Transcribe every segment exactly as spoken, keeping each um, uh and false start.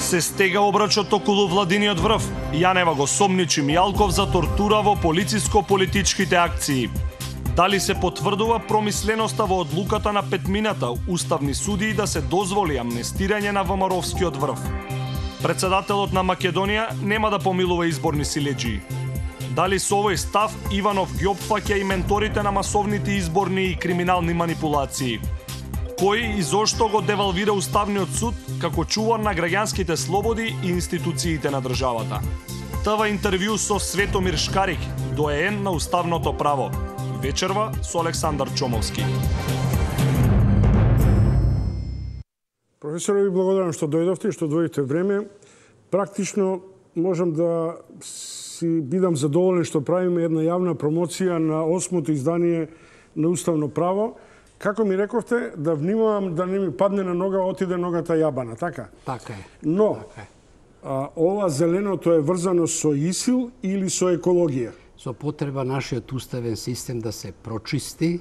Се стега обрачот околу владиниот врв. Јанева го сомничи Мијалков за тортура во полициско-политичките акции. Дали се потврдува промисленоста во одлуката на петмината уставни судии да се дозволи амнестирање на ВМРО-вскиот врв? Председателот на Македонија нема да помилува изборни силеџии. Дали со овој став Иванов ги опфаќа и менторите на масовните изборни и криминални манипулации? Кој и зошто го девалвира Уставниот суд како чувар на граѓанските слободи и институциите на државата? ТВ интервју со Светомир Шкарик, доаен на уставното право. Вечерва со Александар Чомовски. Професоре, ви благодарам што дојдовте и што дојдете време. Практично можам да си бидам задоволен што правиме една јавна промоција на осмото издание на Уставно право. Како ми рековте, да внимавам да не ми падне на нога, отиде ногата јабана, така? Така е. Но, така е. А, ова зеленото е врзано со ИСИЛ или со екологија? Со потреба нашиот уставен систем да се прочисти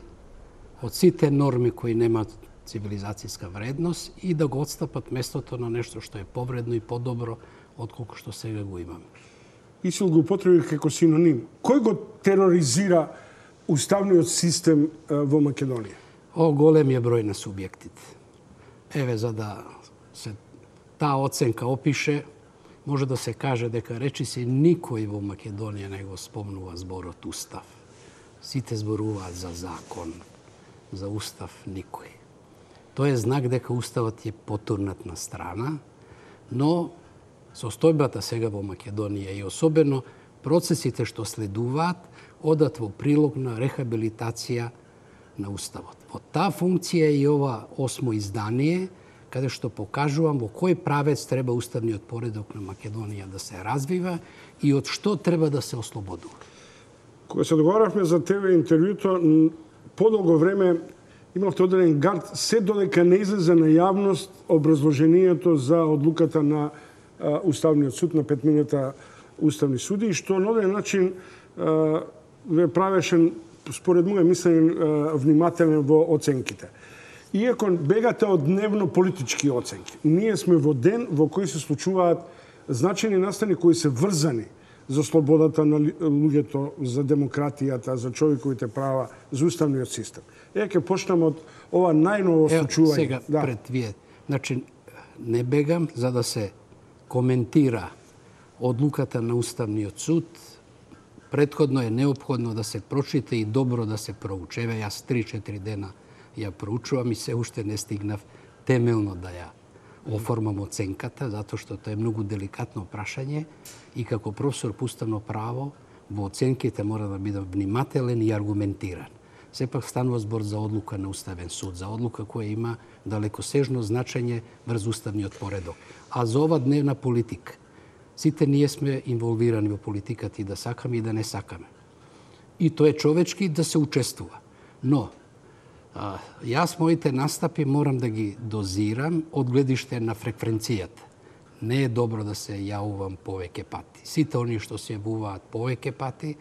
од сите норми кои немаат цивилизацијска вредност и да го отстапат местото на нешто што е повредно и подобро отколку што сега го имаме. ИСИЛ го употреби како синоним. Кој го тероризира уставниот систем во Македонија? О, голем е број на субјектите. Еве, за да се таа оценка опише, може да се каже дека речиси никој во Македонија не го спомнува зборот устав. Сите зборуваат за закон, за устав никој. Тоа е знак дека уставот е потурнат на страна, но состојбата сега во Македонија и особено процесите што следуваат одат во прилог на рехабилитација на уставот. Во таа функција е и ова осмо издание, каде што покажувам во кој правец треба уставниот поредок на Македонија да се развива и од што треба да се ослободува. Кога се договаравме за ТВ интервјуто, подолго време имавте одреден гард, се додека не излезе на јавност образложението за одлуката на а, Уставниот суд, на петмината уставни суди, што на одреден начин а, ве правеше, според моје мислење, внимателен во оценките. Иако бегате од дневно политички оценки, ние сме во ден во кој се случуваат значајни настани кои се врзани за слободата на луѓето, за демократијата, за човековите права, за уставниот систем. Е, ќе почнам од ова најново случување. Сега, да. Пред вие, значи, не бегам за да се коментира одлуката на Уставниот суд. Претходно е неопходно да се прочита и добро да се проучева. Јас три-четири дена ја проучувам и се уште не стигнав темелно да ја оформам оценката, затоа што тоа е многу деликатно прашање и како професор по уставно право во оценките мора да бидам внимателен и аргументиран. Сепак станува збор за одлука на Уставен суд, за одлука која има далекосежно значење врз уставниот поредок. А за ова дневна политика, сите ние сме инволвирани во политиката и да сакаме и да не сакаме. И тоа е човечки да се учествува. Но, а, јас моите настапи морам да ги дозирам од гледиште на фреквенцијата. Не е добро да се јавувам повеќе пати. Сите они што се јавуваат повеќе пати,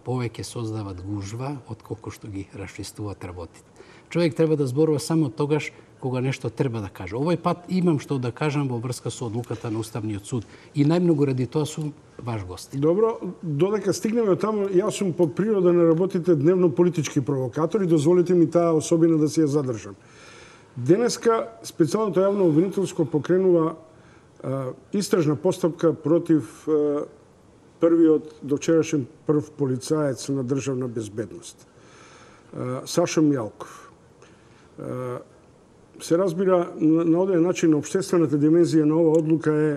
повеќе создават гужва, отколку што ги расчистуваат работите. Човек треба да зборува само тогаш кога нешто треба да каже. Овој пат имам што да кажам во врска со одлуката на Уставниот суд и најмногу ради тоа сум ваш гост. Добро, додека стигнеме таму, јас сум по природа на работите дневно политички провокатори, дозволите ми таа особина да си ја задржам. Денеска специјалното јавно обвинителско покренува а, истражна постапка против а, првиот довчерашен прв полицаец на државна безбедност, а, Сашо Мијалков. А, се разбира, на, на оден начин општествената димензија на оваа одлука е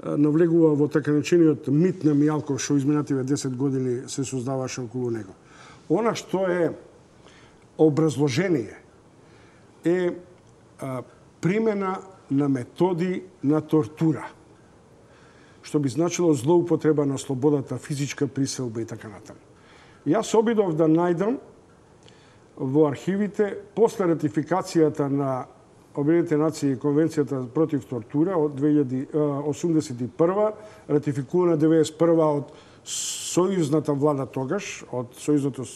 навлегува во така наречениот мит на Мијалков, што изминативе десет години се создаваше околу него. Она што е образложение е а, примена на методи на тортура, што би значило злоупотреба на слободата, физичка приселба и така натаму. Јас обидов да најдам во архивите после ратификацијата на Обединетите нации и Конвенцијата против тортура од две илјади осумдесет и прва, ратификувана деветдесет и прва од сојузната влада тогаш, од Сојузното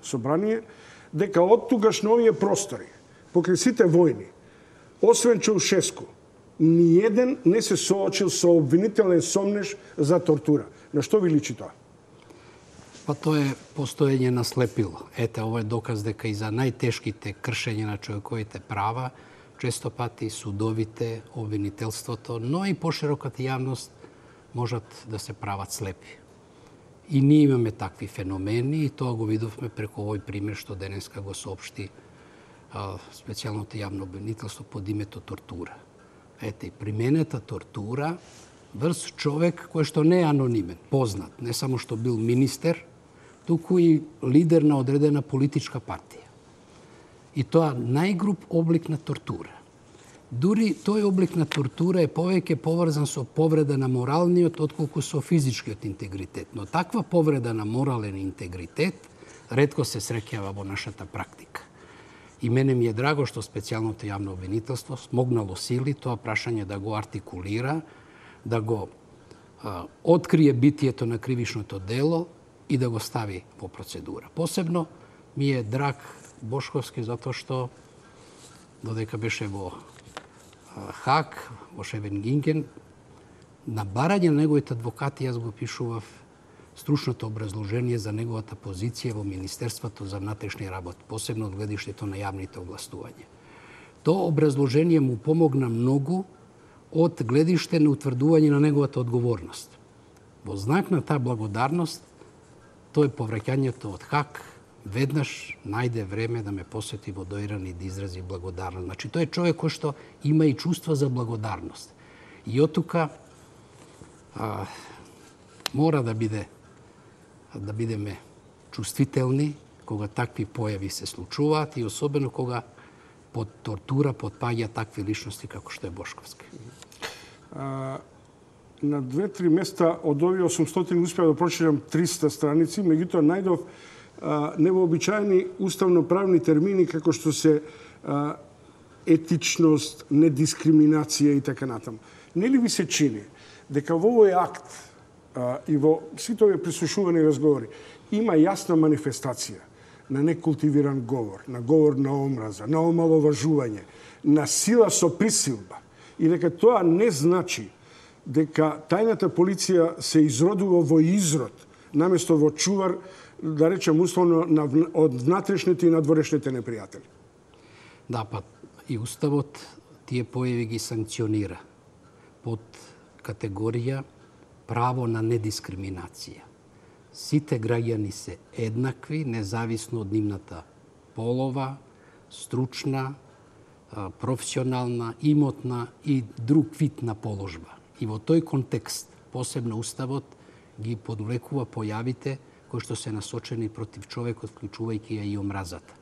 собрание, дека од тогаш на овие простори, покрај сите војни, освен Чаушеску, ниеден не се соочил со обвинителен сомнеж за тортура. На што ви личи тоа? Па тоа е постоење на слепило. Ете, ова е доказ дека и за најтешките кршења на човековите права, често пати судовите, обвинителството, но и пошироката јавност можат да се прават слепи. И ние имаме такви феномени и тоа го видовме преку овој пример што денеска го соопшти а, специјалното јавно обвинителство под името тортура. Ете, применета тортура врз човек кој што не е анонимен, познат, не само што бил министер, туку и лидер на одредена политичка партија. И тоа најгруп облик на тортура. Дури тој облик на тортура е повеќе поврзан со повреда на моралниот отколку со физичкиот интегритет. Но таква повреда на морален интегритет ретко се среќава во нашата практика. И мене ми е драго што специјалното јавно обвинителство смогнало сили тоа прашање да го артикулира, да го а, открие битието на кривишното дело и да го стави во процедура. Посебно ми е драг Бошковски затоа што додека беше во Хаг, во Шевенгинген, на барање на неговите адвокати јас го пишував стручното образложение за неговата позиција во Министерството за внатрешни работи, посебно од гледиштето на јавните овластувања. Тоа образложение му помогна многу од гледиште на утврдување на неговата одговорност. Во знак на таа благодарност, тој повраќањето од Хаг веднаш најде време да ме посети во Доиран и да изрази благодарност. Значи, тој е човек кој што има и чувства за благодарност. И од тука а, мора да биде да бидеме чувствителни кога такви појави се случуваат и особено кога под тортура потпаѓа такви личности како што е Бошковски. А, на две-три места од овие осумстотини успеа да прочитам триста страници, меѓутоа најдов а, невообичаени уставно-правни термини како што се а, етичност, недискриминација и така натаму. Нели ви се чини дека во овој акт а, и во сите овие прислушувани разговори има јасна манифестација на некултивиран говор, на говор на омраза, на омаловажување, на сила со присилба и дека тоа не значи дека тајната полиција се изродува во изрод, наместо во чувар, да речем условно, на, од внатрешните и надворешните непријатели. Да, па и Уставот тие појави ги санкционира под категорија право на недискриминација. Сите граѓани се еднакви, независно од нивната полова, стручна, професионална, имотна и друг вид на положба. И во тој контекст, посебно Уставот, ги подвлекува појавите кои што се насочени против човекот, вклучувајќи ја и омразата.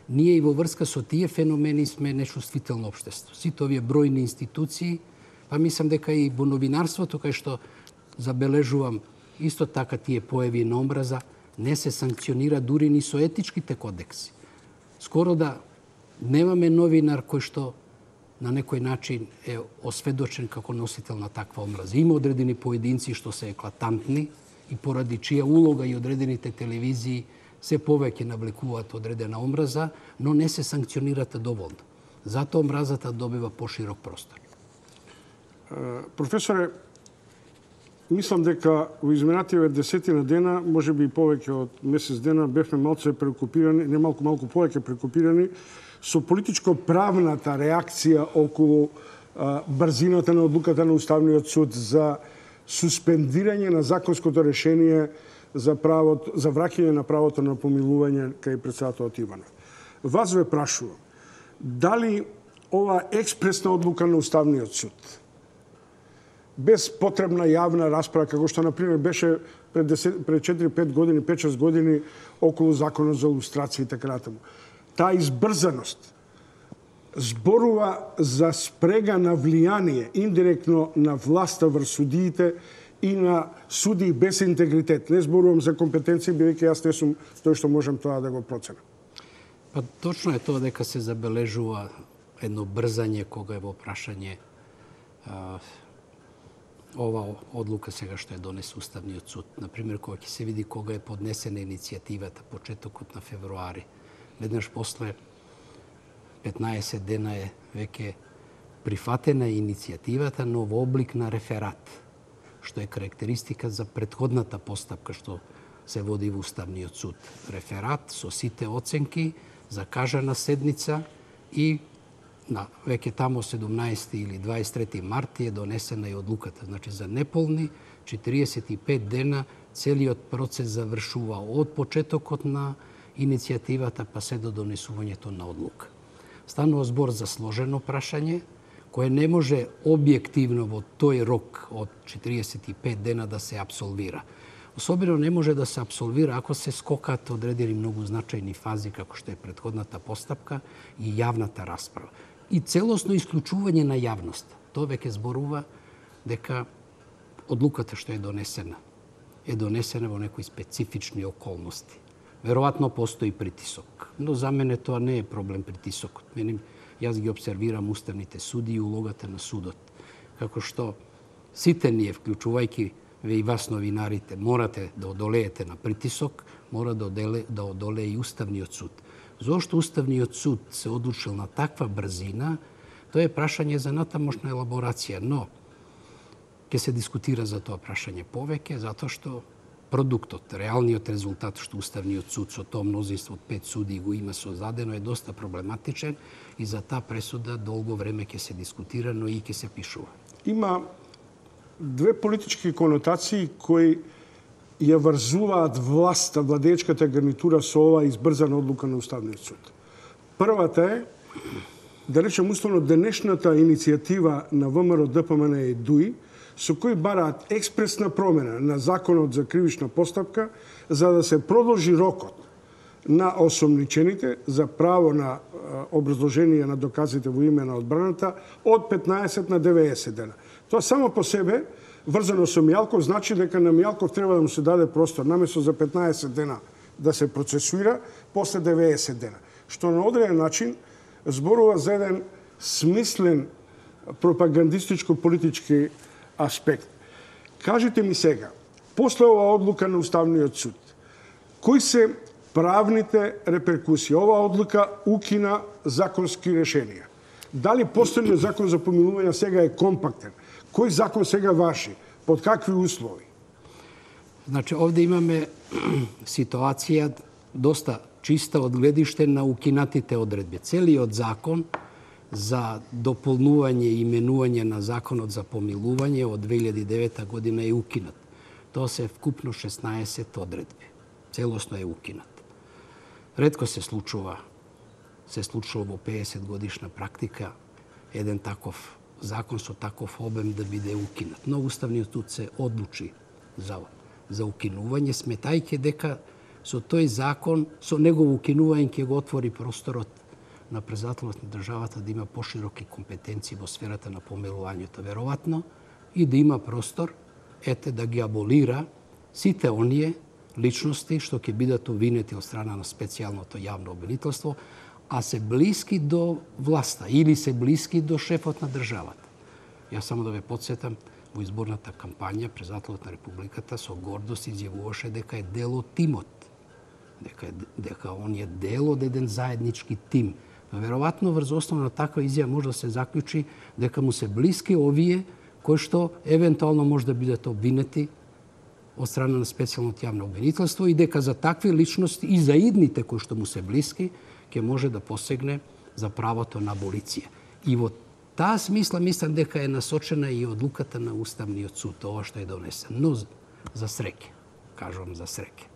Ние и во врска со тие феномени сме нечувствително општество. Сите овие бројни институции, па мислам дека и во новинарството, кај што забележувам исто така тие појави на омраза, не се санкционира дури ни со етичките кодекси. Скоро да немаме новинар кој што на некој начин е осведочен како носител на таква омраза. Има одредени поединци што се еклатантни и поради чија улога и одредените телевизии се повеќе навлекуваат одредена омраза, но не се санкционират доволно. Затоа омразата добива поширок простор. Професоре, мислам дека во изминативе десетина дена, може би и повеќе од месец дена, бевме малце прекупирани, не малку малку повеќе прекупирани со политичко-правната реакција околу а, брзината на одлуката на Уставниот суд за суспендирање на законското решение за правото, за враќање на правото на помилување кај претседателот Иванов. Вас ве прашувам, дали ова експресна одлука на Уставниот суд, без потребна јавна расправа, како што, например, беше пред, пред четири-пет години, пет-шест години околу законот за лустрација и така натаму, таа избрзаност зборува за спрега на влијание индиректно на власта врз судиите и на судии без интегритет. Не зборувам за компетенции, бидејќи јас не сум тој што можам тоа да го проценам. Па точно е тоа дека се забележува едно брзање кога е во прашање а, ова одлука сега што е донес Уставниот суд. Например, кога ќе се види кога е поднесена иницијативата, почетокот на февруари, веднаш после петнаесет дена е веќе прифатена е иницијативата но во облик на реферат, што е карактеристика за претходната постапка што се води во Уставниот суд. Реферат со сите оценки за кажана седница и на веќе тамо седумнаесети или дваесет и трети март е донесена и одлуката. Значи за неполни четириесет и пет дена целиот процес завршува од почетокот на иницијативата па се до донесувањето на одлука. Станува збор за сложено прашање кое не може објективно во тој рок од четириесет и пет дена да се апсолвира. Особено не може да се апсолвира ако се скокат одредени многу значајни фази како што е претходната постапка и јавната расправа. И целосно исклучување на јавност. Тоа веќе зборува дека одлуката што е донесена е донесена во некои специфични околности. Веројатно постои притисок, но за мене тоа не е проблем притисокот. Мене јас ги обсервирам уставните суди и улогата на судот. Како што сите ние, вклучувајќи ве и вас новинарите, морате да одолеете на притисок, мора да одолее, да одолее и Уставниот суд. Зошто Уставниот суд се одлучил на таква брзина, тоа е прашање за натамошна елаборација, но ќе се дискутира за тоа прашање повеќе, затоа што продуктот, реалниот резултат што Уставниот суд со тоа мнозинство од пет суди го има создадено е доста проблематичен и за таа пресуда долго време ќе се дискутира, но и ќе се пишува. Има две политички конотации кои ја врзуваат власта, владеечката гарнитура со ова избрзана одлука на Уставниот суд. Првата е, да речем условно, денешната иницијатива на ВМРО, ДПМН и ДУИ, со кои бараат експресна промена на Законот за кривична постапка, за да се продолжи рокот на осомничените за право на образложение на доказите во име на одбраната од петнаесет на деветдесет дена. Тоа само по себе, врзано со Мијалков, значи дека на Мијалков треба да му се даде простор, наместо за петнаесет дена да се процесуира, после деветдесет дена. Што на одреден начин зборува за еден смислен пропагандистичко-политички аспект. Кажете ми сега, после оваа одлука на Уставниот суд, кои се правните реперкусии? Оваа одлука укина законски решенија. Дали постојниот закон за помилување сега е компактен? Кој закон сега ваши? Под какви услови? Значи, овде имаме ситуација доста чиста од гледиште на укинатите одредби. Целиот закон за дополнување и именување на законот за помилување од две илјади и девета година е укинат. Тоа се вкупно шеснаесет одредби. Целосно е укинат. Ретко се случува, се случува во пеесет годишна практика еден таков закон со таков обем да биде укинат. Но Уставниот суд се одлучи за, за укинување, сметајќи дека со тој закон, со негово укинување ќе го отвори просторот на председателот на државата да има пошироки компетенции во сферата на помилувањето, веројатно, и да има простор, ете, да ги аболира сите оние личности што ќе бидат обвинети од страна на специјалното јавно обвинителство, а се блиски до власта или се блиски до шефот на државата. Јас само да ве подсетам, во изборната кампања председателот на Републиката со гордост изјавуваше дека е дел од тимот, дека, дека он е дел од еден заеднички тим. Но веројатно врз основа на таква изјава може да се заклучи дека му се блиски овие кои што евентуално може да бидат обвинети од страна на специјалното јавно обвинителство и дека за такви личности и за идните кои што му се блиски ќе може да посегне за правото на аболиција. И во таа смисла мислам дека е насочена и одлуката на Уставниот суд, ова што е донесен. Но за среќа, кажувам за среќа.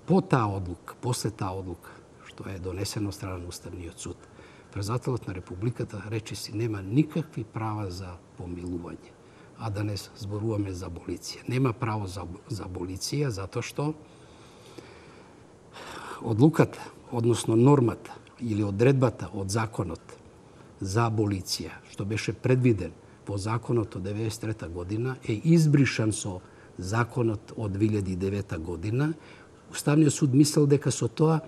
По таа одлука, после таа одлука, што е донесено од страна на Уставниот суд, председателот на Републиката речиси нема никакви права за помилување, а да не зборуваме за аболиција. Нема право за, за аболиција затоа што одлуката, односно нормата или одредбата од законот за аболиција, што беше предвиден во законот од деветдесет и трета година, е избришан со законот од две илјади и девета година. Уставниот суд мислел дека со тоа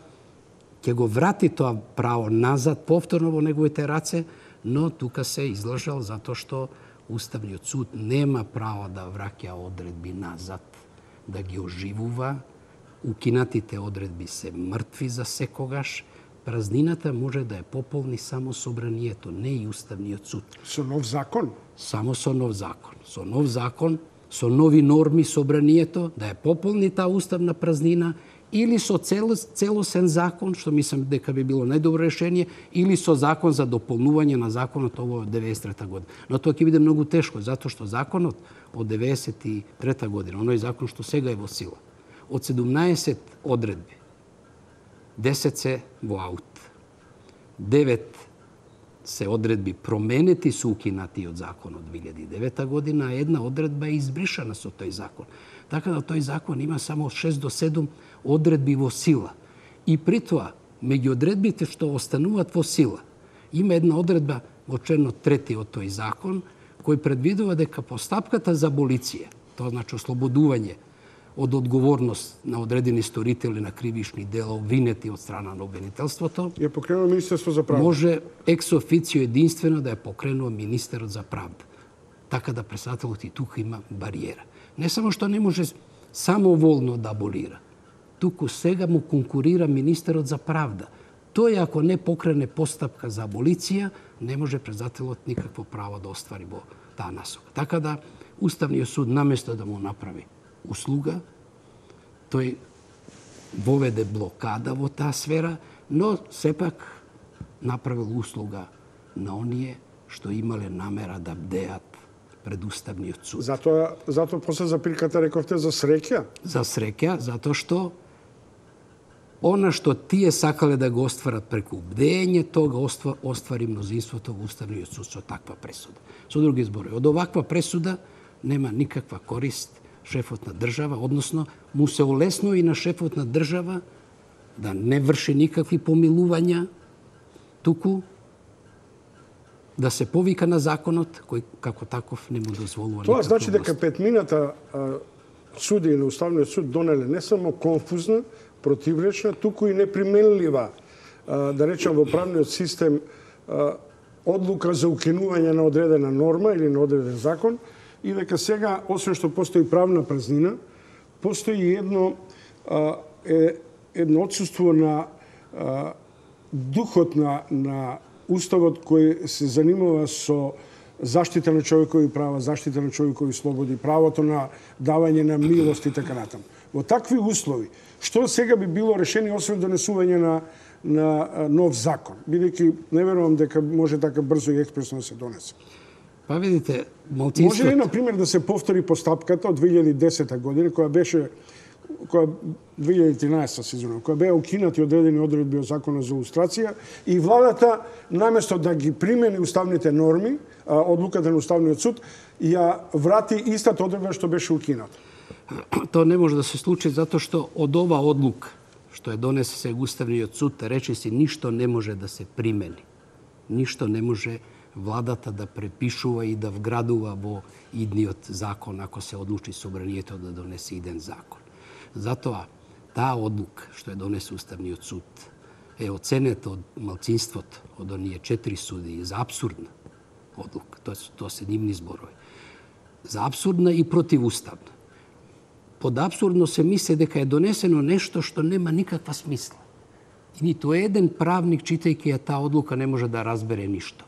ќе го врати тоа право назад, повторно во неговите раце, но тука се излажал затоа што Уставниот суд нема право да враќа одредби назад, да ги оживува. Укинатите одредби се мртви за секогаш, Празнината може да ја пополни само собранието, не и Уставниот суд. Со нов закон? Само со нов закон. Со нов закон, со нови норми собранието, да ја пополни таа уставна празнина, или со цел, целосен закон, што мислам дека би било најдобро решение, или со закон за дополнување на законот ово од деветдесет и трета година. Но тоа ќе биде многу тешко, затоа што законот од деветдесет и трета година, оној закон што сега е во сила, од седумнаесет одредби, десет се во аут, девет се одредби променети со укинатиот закон од две илјади и девета година, а една одредба е избришана со тој закон. Така да тој закон има само шест до седум одредби во сила. И при тоа, меѓу одредбите што остануваат во сила, има една одредба во член трети од тој закон, кој предвидува дека постапката за аболиција, тоа значи ослободување од одговорност на одредени сторители на кривишни дела обвинети од страна на обвинителството, ја покренува Министерство за правда. Може екс официо единствено да ја покренува министерот за правда. Така да председателот и тука има бариера. Не само што не може самоволно да аболира, туку сега му конкурира министерот за правда. Тој ако не покрене постапка за аболиција, не може председателот никакво право да оствари во таа насока. Така да Уставниот суд наместо да му направи услуга, тој воведе блокада во таа сфера, но сепак направил услуга на оние што имале намера да бдеат пред Уставниот суд. Затоа, затоа после запирката рековте за среќа? За среќа, затоа што она што тие сакале да го остварат преку бдење, тоа го оствари мнозинството во Уставниот суд со таква пресуда. Со други зборови, од оваква пресуда нема никаква корист шефот на држава, односно му се олесно и на шефот на држава да не врши никакви помилувања, туку да се повика на законот, кој како таков не му дозволува. Тоа значи дека петмината суди на Уставниот суд донеле не само конфузна, противречна, туку и неприменлива, да речем во правниот систем, одлука за укинување на одредена норма или на одреден закон, и дека сега, освен што постои правна празнина, постои едно, е, едно отсуство на а, духот на, на Уставот кој се занимава со заштита на човекови права, заштита на човекови слободи, правото на давање на милост и така натаму. Во такви услови, што сега би било решение освен донесување на, на нов закон? Бидејќи не верувам дека може така брзо и експресно да се донесе. Па видите, малцинството... Може ли, например, да се повтори постапката од две илјади и десета година, која беше, која две илјади и тринаесета се извинувам, која беа укинати одредени одредби од Законот за лустрација и владата, наместо да ги примени уставните норми, одлуката на Уставниот суд, ја врати истата одредба што беше укината? Тоа не може да се случи затоа што од ова одлука што е донесе се Уставниот суд, рече си, ништо не може да се примени. Ништо не може владата да препишува и да вградува во идниот закон, ако се одлучи собранието да донесе иден закон. Затоа, таа одлука што е донесе Уставниот суд е оценета од малцинството, од оние четири суди, за абсурдна одлука. Тоа, тоа се нивни зборови. За абсурдна и противуставна. Под абсурдно се мисли дека е донесено нешто што нема никаква смисла. И ниту еден правник, читајќи ја таа одлука, не може да разбере ништо.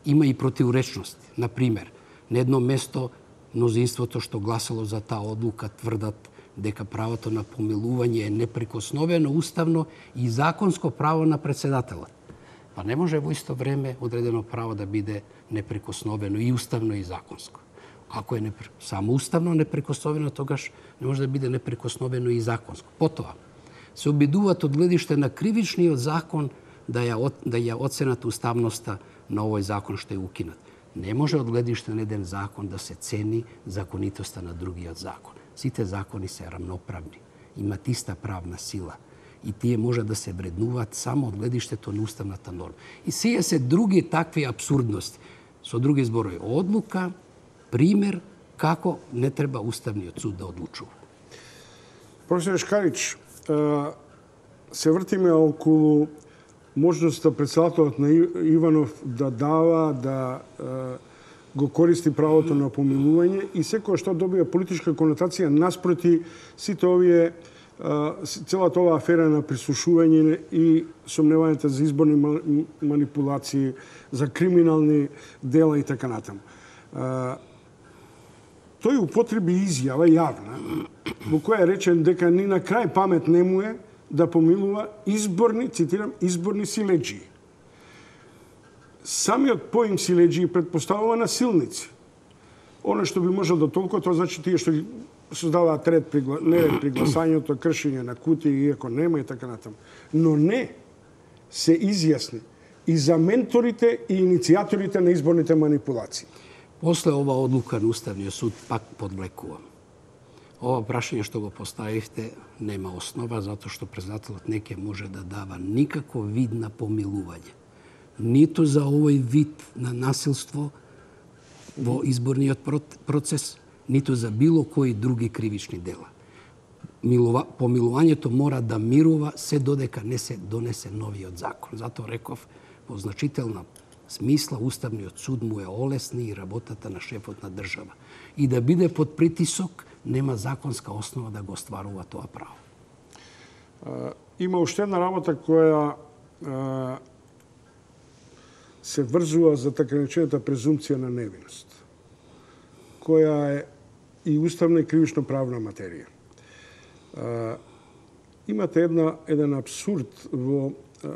Има и противречности. Например, на едно место мнозинството што гласало за таа одлука тврдат дека правото на помилување е неприкосновено уставно и законско право на председателот. Па не може во исто време одредено право да биде неприкосновено и уставно и законско. Ако е непр... само уставно неприкосновено, тогаш не може да биде неприкосновено и законско. Потоа, се обидуваат од гледиште на кривичниот закон да ја, да ја оценат уставноста на овој закон што е укинат. Не може од гледиште на еден закон да се цени законитоста на другиот закон. Сите закони се рамноправни, имат иста правна сила и тие може да се вреднуваат само од гледиштето на уставната норма. И сие се други такви абсурдности. Со други зборови, одлука, пример како не треба Уставниот суд да одлучува. Професор Шкарич, се вртиме околу можноста председателот на Иванов да дава, да го користи правото на помилување и секој што добија политичка конотација наспроти сите овие целата оваа афера на прислушување и сомневањата за изборни манипулации, за криминални дела и така натаму. Тој употреби изјава јавна, во која речен дека ни на крај памет не му е да помилува изборни, цитирам, изборни силеџии. Самиот поим силеџии предпоставува насилници. Оно што би можел да толку, тоа значи тие што создаваат ред при, неред при гласањето, кршење на кутии, иако нема и така натаму. Но не се изјасни и за менторите и иницијаторите на изборните манипулации. После ова одлука на Уставниот суд пак подвлекувам. Ова прашање што го поставивте нема основа, затоа што председателот не ќе може да дава никаков вид на помилување. Ниту за овој вид на насилство во изборниот процес, ниту за било кои други кривични дела. Милува, помилувањето мора да мирува се додека не се донесе новиот закон. Затоа реков, во значителна смисла, Уставниот суд му е олесни и работата на шефот на држава. И да биде под притисок, нема законска основа да го остварува тоа право. А, има уште една работа која а, се врзува за така наречената презумпција на невиност, која е и уставна и кривично правна материја. А, имате една, еден абсурд во а,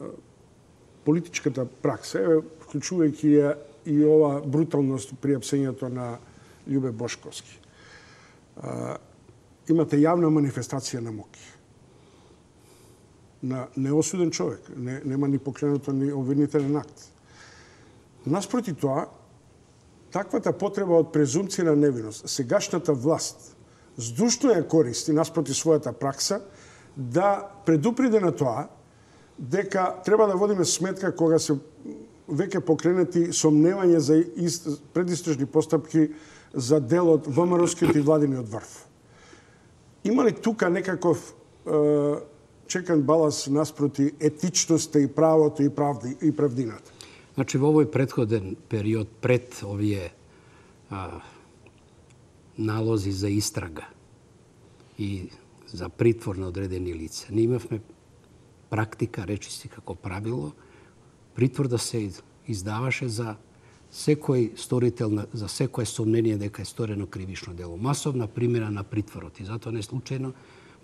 политичката пракса, еве, вклучувајќи ја и ова бруталност при апсењето на Љубе Бошковски. А, имате јавна манифестација на муки на неосуден човек, не, нема ни покренато ни обвинителен акт. Наспроти тоа, таквата потреба од презумпција на невиност, сегашната власт здушно ја користи наспроти својата пракса да предупреди на тоа дека треба да водиме сметка кога се веќе покренети сомневања за предистражни постапки за делот ВМРО-скиот и владиниот врв. Има ли тука некаков е, чекан баланс наспроти етичноста и правото и правди и правдината? Значи, во овој претходен период, пред овие а, налози за истрага и за притвор на одредени лица, ние имавме практика, речиси како правило, притвор да се издаваше за секој сторител, за секое сомнение дека е сторено кривично дело. Масовна примера на притворот. И затоа не случајно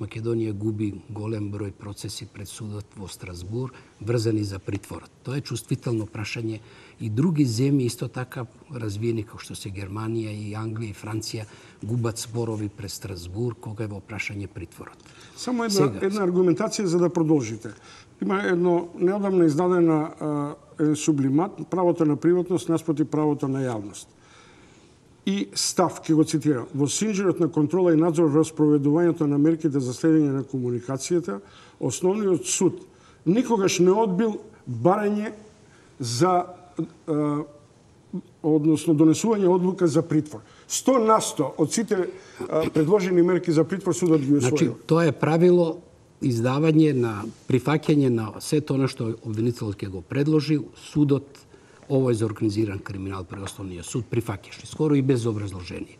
Македонија губи голем број процеси пред судот во Страсбур врзани за притворот. Тоа е чувствително прашање и други земји исто така развиени како што се Германија и Англија и Франција губат спорови пред Страсбур кога е во прашање притворот. Само една, Сега, една аргументација за да продолжите. Има едно неодамна издадена е, сублимат, правото на приватност наспроти правото на јавност. И став, ке го цитирам, во синџерот на контрола и надзор во спроведувањето на мерките за следење на комуникацијата, основниот суд никогаш не одбил барање за е, односно донесување одлука за притвор. сто на сто од сите е, предложени мерки за притвор судот ги усвоил. Значи, тоа е правило издавање на прифаќање на сето она што обвинителот ќе го предложи, судот овој за организиран криминал при Основниот суд прифаќаше, скоро и без образложение.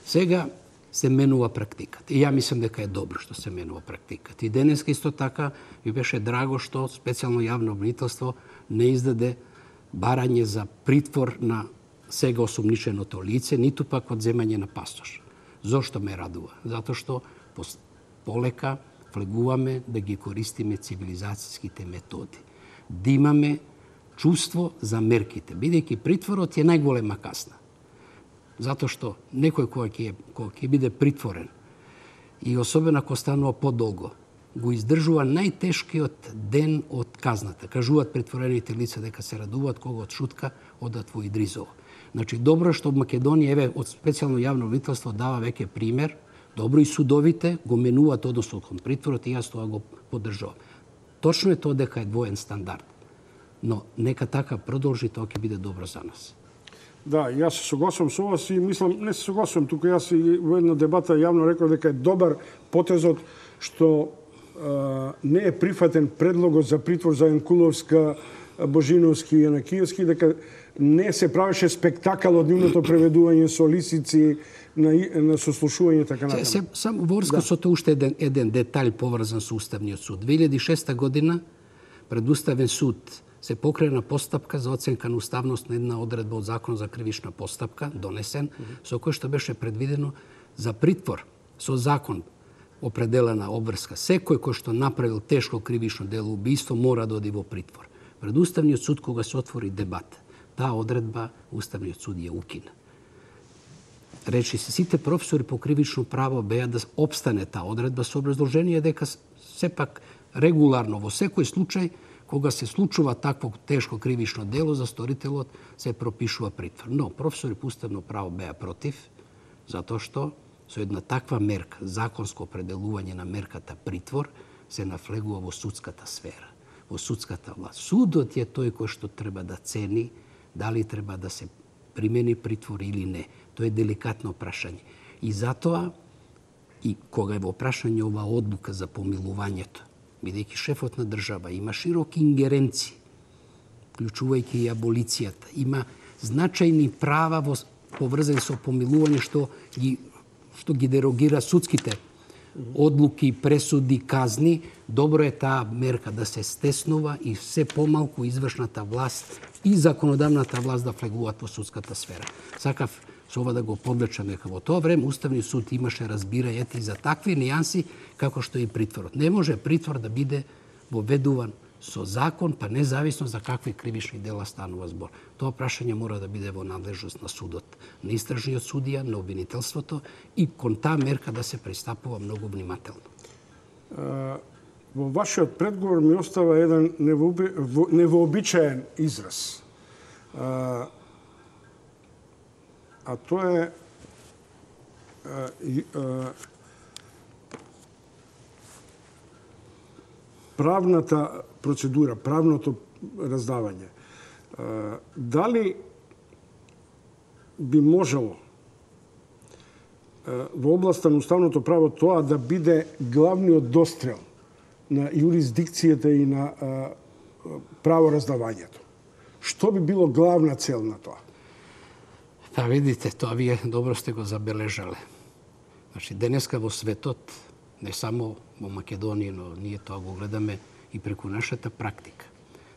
Сега се менува практиката. И ја мислам дека е добро што се менува практиката. И денеска исто така ми беше драго што специјално јавно обвинителство не издаде барање за притвор на сега осумниченото лице, ниту пак одземање на пасош. Зошто ме радува? Затоа што полека влегуваме да ги користиме цивилизацијските методи. Да имаме чувство за мерките, бидејќи притворот е најголема касна. Затоа што некој кој ќе, кој ќе биде притворен и особено ако станува подолго, го издржува најтешкиот ден од казната. Кажуваат притворените лица дека се радуваат кога од шутка одат во Идризово. Значи, добро што Македонија, еве, од специјално јавно обвинителство дава веќе пример, добро и судовите го менуваат односот кон притворот и јас тоа го поддржувам. Точно е тоа дека е двоен стандард. Но нека така продолжи, тоа ќе биде добро за нас. Да, јас се согласувам со вас и мислам, не се согласувам, тука јас и во една дебата јавно реков дека е добар потезот што а, не е прифатен предлогот за притвор за Јанкуловска, Божиновски и Јанакиевски, дека не се правеше спектакл од нивното преведување со лисици на, на сослушување така натаму. Се, само во врска со тоа уште еден, еден детаљ поврзан со Уставниот суд. две илјади и шеста година пред Уставен суд се покрена постапка за оценка на уставност на една одредба од Закон за кривична постапка, донесен, mm-hmm. со кој што беше предвидено за притвор со закон определена обврска. Секој кој што направил тешко кривично дело убиство мора да оди во притвор. Пред Уставниот суд, кога се отвори дебат, таа одредба Уставниот суд ја укина. Речи се, сите професори по кривично право беа да обстане таа одредба со образложение дека сепак регуларно во секој случај кога се случува такво тешко кривично дело за сторителот се пропишува притвор. Но професори по уставно право беа против, затоа што со една таква мерка, законско определување на мерката притвор, се нафлегува во судската сфера, во судската власт. Судот е тој кој што треба да цени дали треба да се примени притвор или не. Тоа е деликатно прашање. И затоа, и кога е во прашање ова одлука за помилувањето, бидејќи шефот на држава има широки ингеренции, вклучувајќи и аболицијата, има значајни права во поврзани со помилување што ги што ги дерогира судските одлуки, пресуди, казни, добро е таа мерка да се стеснува и се помалку извршната власт и законодавната власт да влегуваат во судската сфера. Сакав со ова да го подлечам дека во тоа време Уставниот суд имаше разбирање и за такви нијанси како што и притворот. Не може притвор да биде воведуван со закон, па независно за какви кривични дела станува збор. Тоа прашање мора да биде во надлежност на судот, на истражниот судија, на обвинителството и кон таа мерка да се пристапува многу внимателно. А, во вашиот предговор ми остава еден невообичаен израз. А, а тоа е а, а, правната процедура, правното раздавање. А, дали би можело а, во областа на уставното право тоа да биде главниот дострел на юрисдикцијата и на а, правораздавањето? Што би било главна цел на тоа? Па видите, тоа вие добро сте го забележале. Значи, денеска во светот, не само во Македонија, но ние тоа го гледаме и преку нашата практика.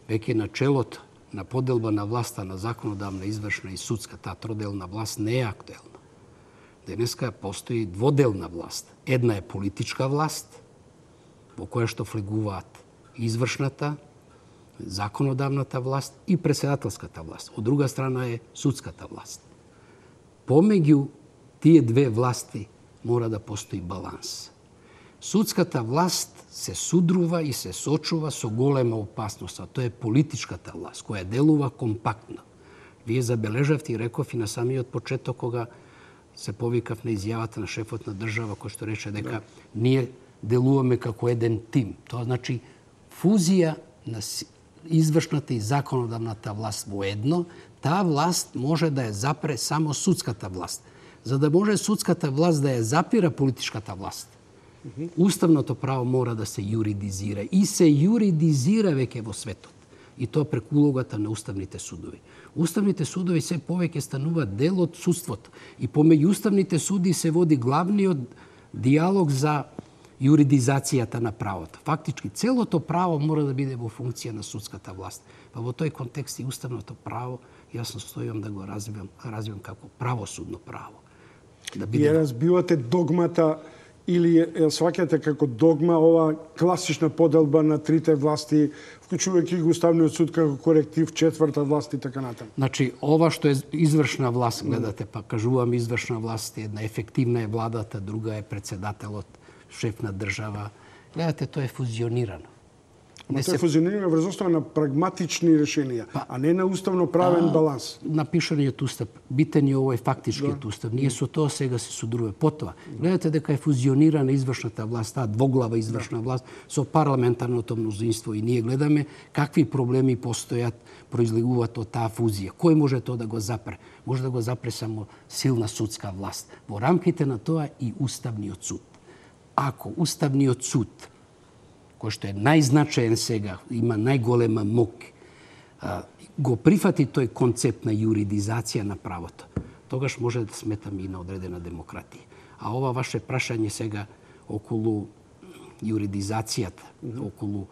Веќе начелото на поделба на власта на законодавна, извршна и судска, таа троделна власт не е актуелна. Денеска постои дводелна власт. Една е политичка власт, во која што влегуваат извршната, законодавната власт и претседателската власт. Од друга страна е судската власт. Помеѓу тие две власти мора да постои баланс. Судската власт се судрува и се сочува со голема опасност, а тоа е политичката власт, која делува компактно. Вие забележавте и реков и на самиот почеток, кога се повикав на изјавата на шефот на држава, кој што рече дека да. Ние делуваме како еден тим. Тоа значи фузија на извршната и законодавната власт во едно, таа власт може да ја запре само судската власт. За да може судската власт да ја запира политичката власт, уставното право мора да се юридизира и се юридизира веќе во светот. И тоа преку улогата на уставните судови. Уставните судови се повеќе стануваат дел од судството и помеѓу уставните суди се води главниот диалог за юридизацијата на правото. Фактички целото право мора да биде во функција на судската власт. Па во тој контекст и уставното право јас настојувам да го развивам, развивам како правосудно право. Да биде... Ја разбивате догмата или ја сваќате како догма ова класична поделба на трите власти, вклучувајќи го Уставниот суд како коректив, четврта власт и така натаму. Значи, ова што е извршна власт, гледате, па кажувам извршна власт, една ефективна е владата, друга е председателот, шеф на држава. Гледате, тоа е фузионирано. Не тоа е фузионирано врз основа на прагматични решенија, па, а не на уставно-правен а, баланс. Напишаниот устав, битен е овој фактичкиот да. Устав. Ние со тоа сега се судруваме. Потоа, гледате дека е фузионирана извршната власт, таа двоглава извршна да. Власт со парламентарното мнозинство и ние гледаме какви проблеми постојат, произлегуваат од таа фузија. Кој може тоа да го запре? Може да го запре само силна судска власт. Во рамките на тоа и Уставниот суд. Ако Уставниот суд, кој што е најзначаен сега, има најголема мок, го прифати тој концепт на юридизација на правото, тогаш може да сметаме и на одредена демократија. А ова ваше прашање сега околу юридизацијата, околу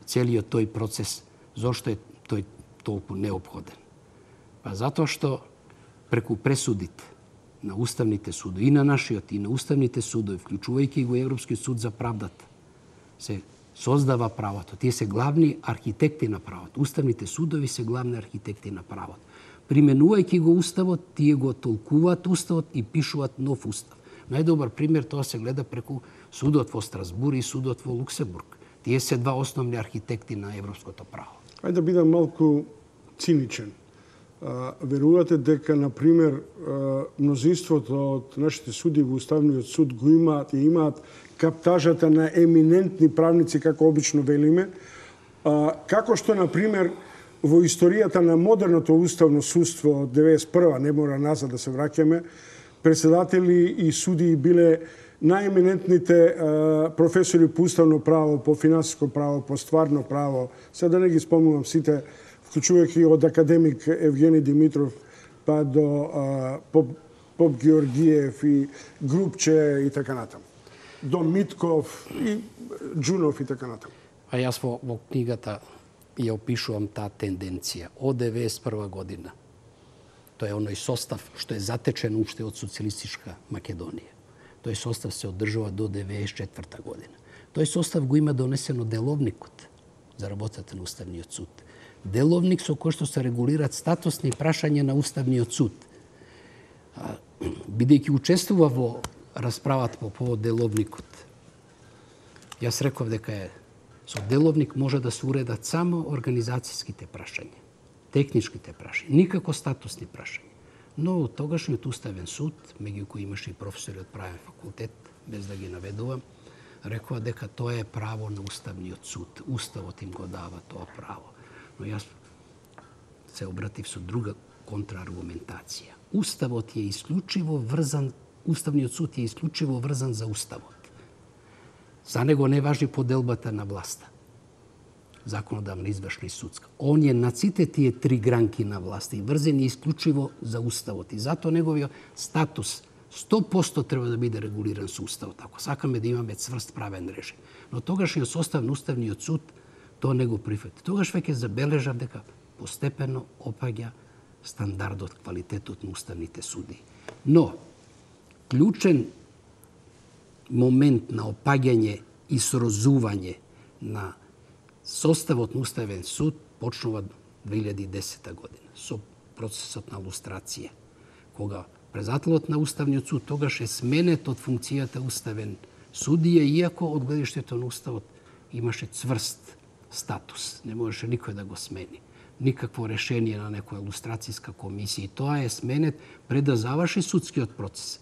целиот тој процес, зошто е тој толку неопходен? Па затоа што преку пресудите на уставните судови, и на нашиот, и на уставните судови, вклучувајќи го Европскиот суд за правдата, се создава правото. Тие се главни архитекти на правото. Уставните судови се главни архитекти на правото. Применувајќи го уставот, тие го толкуваат уставот и пишуваат нов устав. Најдобар пример тоа се гледа преку судот во Страсбур и судот во Луксембург. Тие се два основни архитекти на европското право. Ајде да бидам малку циничен. Верувате дека, например, мнозинството од нашите суди во Уставниот суд го имаат и имаат каптажата на еминентни правници, како обично велиме, како што, например, во историјата на модерното уставно судство од деветдесет и прва, не мора назад да се враќаме, председатели и судии биле најеминентните професори по уставно право, по финансиско право, по стварно право, сега да не ги спомнувам сите, вклучувајќи од академик Евгени Димитров па до а, Поп, Поп Георгиев и Групче и така натаму. До Митков и Джунов и така натаму. А јас во, во книгата ја опишувам таа тенденција од деветдесет и прва година. Тоа е оној состав што е затечен уште од социјалистичка Македонија. Тој состав се одржува до деветдесет и четврта година. Тој состав го има донесено деловникот за работата на Уставниот суд. Деловник со кој што се регулираат статусни прашања на Уставниот суд. Бидејќи учествува во расправата по повод деловникот, јас реков дека е со деловник може да се уредат само организацијските прашања, техничките прашања, никако статусни прашања. Но тогашниот Уставен суд, меѓу кои имаше и професори од правен факултет, без да ги наведувам, рекоа дека тоа е право на Уставниот суд. Уставот им го дава тоа право. Но јас се обратив со друга контрааргументација. Уставот е исклучиво врзан, Уставниот суд е исклучиво врзан за Уставот. За него не важи поделбата на власта. Законодавна, извршна и судска. Он е на сите тие три гранки на власта и врзен е исклучиво за Уставот. И затоа неговиот статус сто проценти треба да биде регулиран со Уставот, ако сакаме да имаме цврст правен режим. Но тогашниот состав на Уставниот суд тоа не го прифати. Тогаш веќе забележав дека постепено опаѓа стандардот, квалитетот на уставните суди. Но, клучен момент на опаѓање и срозување на составот на Уставен суд почнува две илјади и десета година со процесот на лустрација, кога председателот на Уставниот суд тогаш е сменет од функцијата уставен судија, иако од гледиштето на Уставот имаше цврст статус, не можеше никој да го смени. Никакво решение на некоја лустрацијска комисија. И тоа е сменет пред да заврши судскиот процес.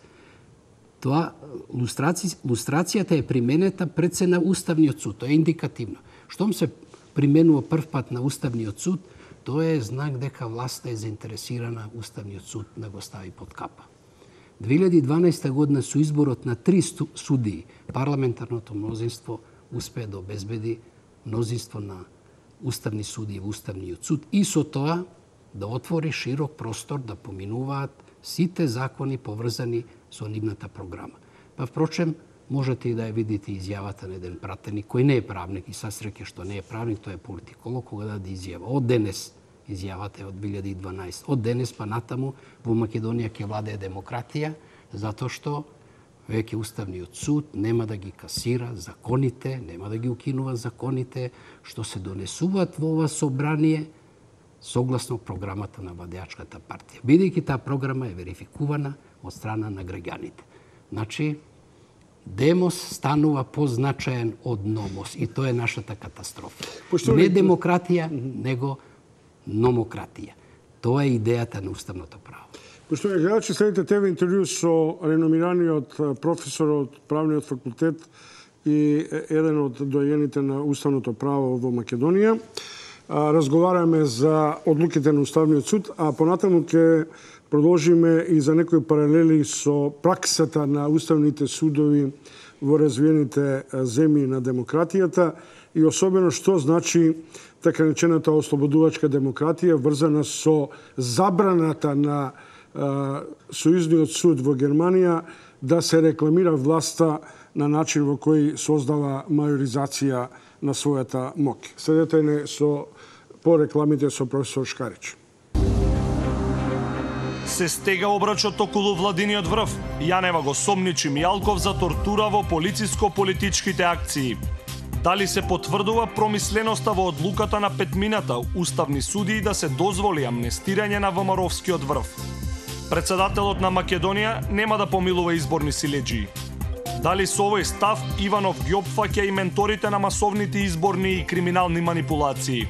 Тоа лустраци... лустрацијата е применета пред се на Уставниот суд. Тоа е индикативно. Штом се применува прв пат на Уставниот суд, тоа е знак дека власта е заинтересирана Уставниот суд да го стави под капа. две илјади и дванаесета година со изборот на три судии, парламентарното мнозинство успее да обезбеди мнозинство на уставни судии во Уставниот суд и со тоа да отвори широк простор да поминуваат сите закони поврзани со нивната програма. Па впрочем, можете и да ја видите изјавата на еден пратеник кој не е правник и са среќа што не е правник, тој е политиколог, кога даде изјава. Од денес, изјавата е од две илјади и дванаесета. Од денес па натаму во Македонија ќе владее демократија, затоа што веќе Уставниот суд нема да ги касира законите, нема да ги укинува законите што се донесуваат во ова собрание согласно програмата на владеачката партија. Бидејќи таа програма е верификувана од страна на граѓаните. Значи, демос станува позначаен од номос и тоа е нашата катастрофа. Пошто не демократија, него номократија. Тоа е идејата на уставното право. Поштовани гледачи, следите тебе интервју со реномираниот професор од правниот факултет и еден од доајените на уставното право во Македонија. Разговараме за одлуките на Уставниот суд, а понатаму ќе продолжиме и за некои паралели со праксата на уставните судови во развиените земји на демократијата и особено што значи така наречената ослободувачка демократија, врзана со забраната на Сојузниот суд во Германија да се рекламира власта на начин во кој создава мајоризација на својата моќ. Следете не со по рекламите со професор Шкарич. Се стега обрачот околу владиниот врв. Јанева го сомничи Мијалков за тортура во полициско-политичките акции. Дали се потврдува промисленоста во одлуката на петмината уставни судии да се дозволи амнестирање на ВМРО-вскиот врв? Председателот на Македонија нема да помилува изборни силеџии. Дали со овој став Иванов ги опфаќа и менторите на масовните изборни и криминални манипулации?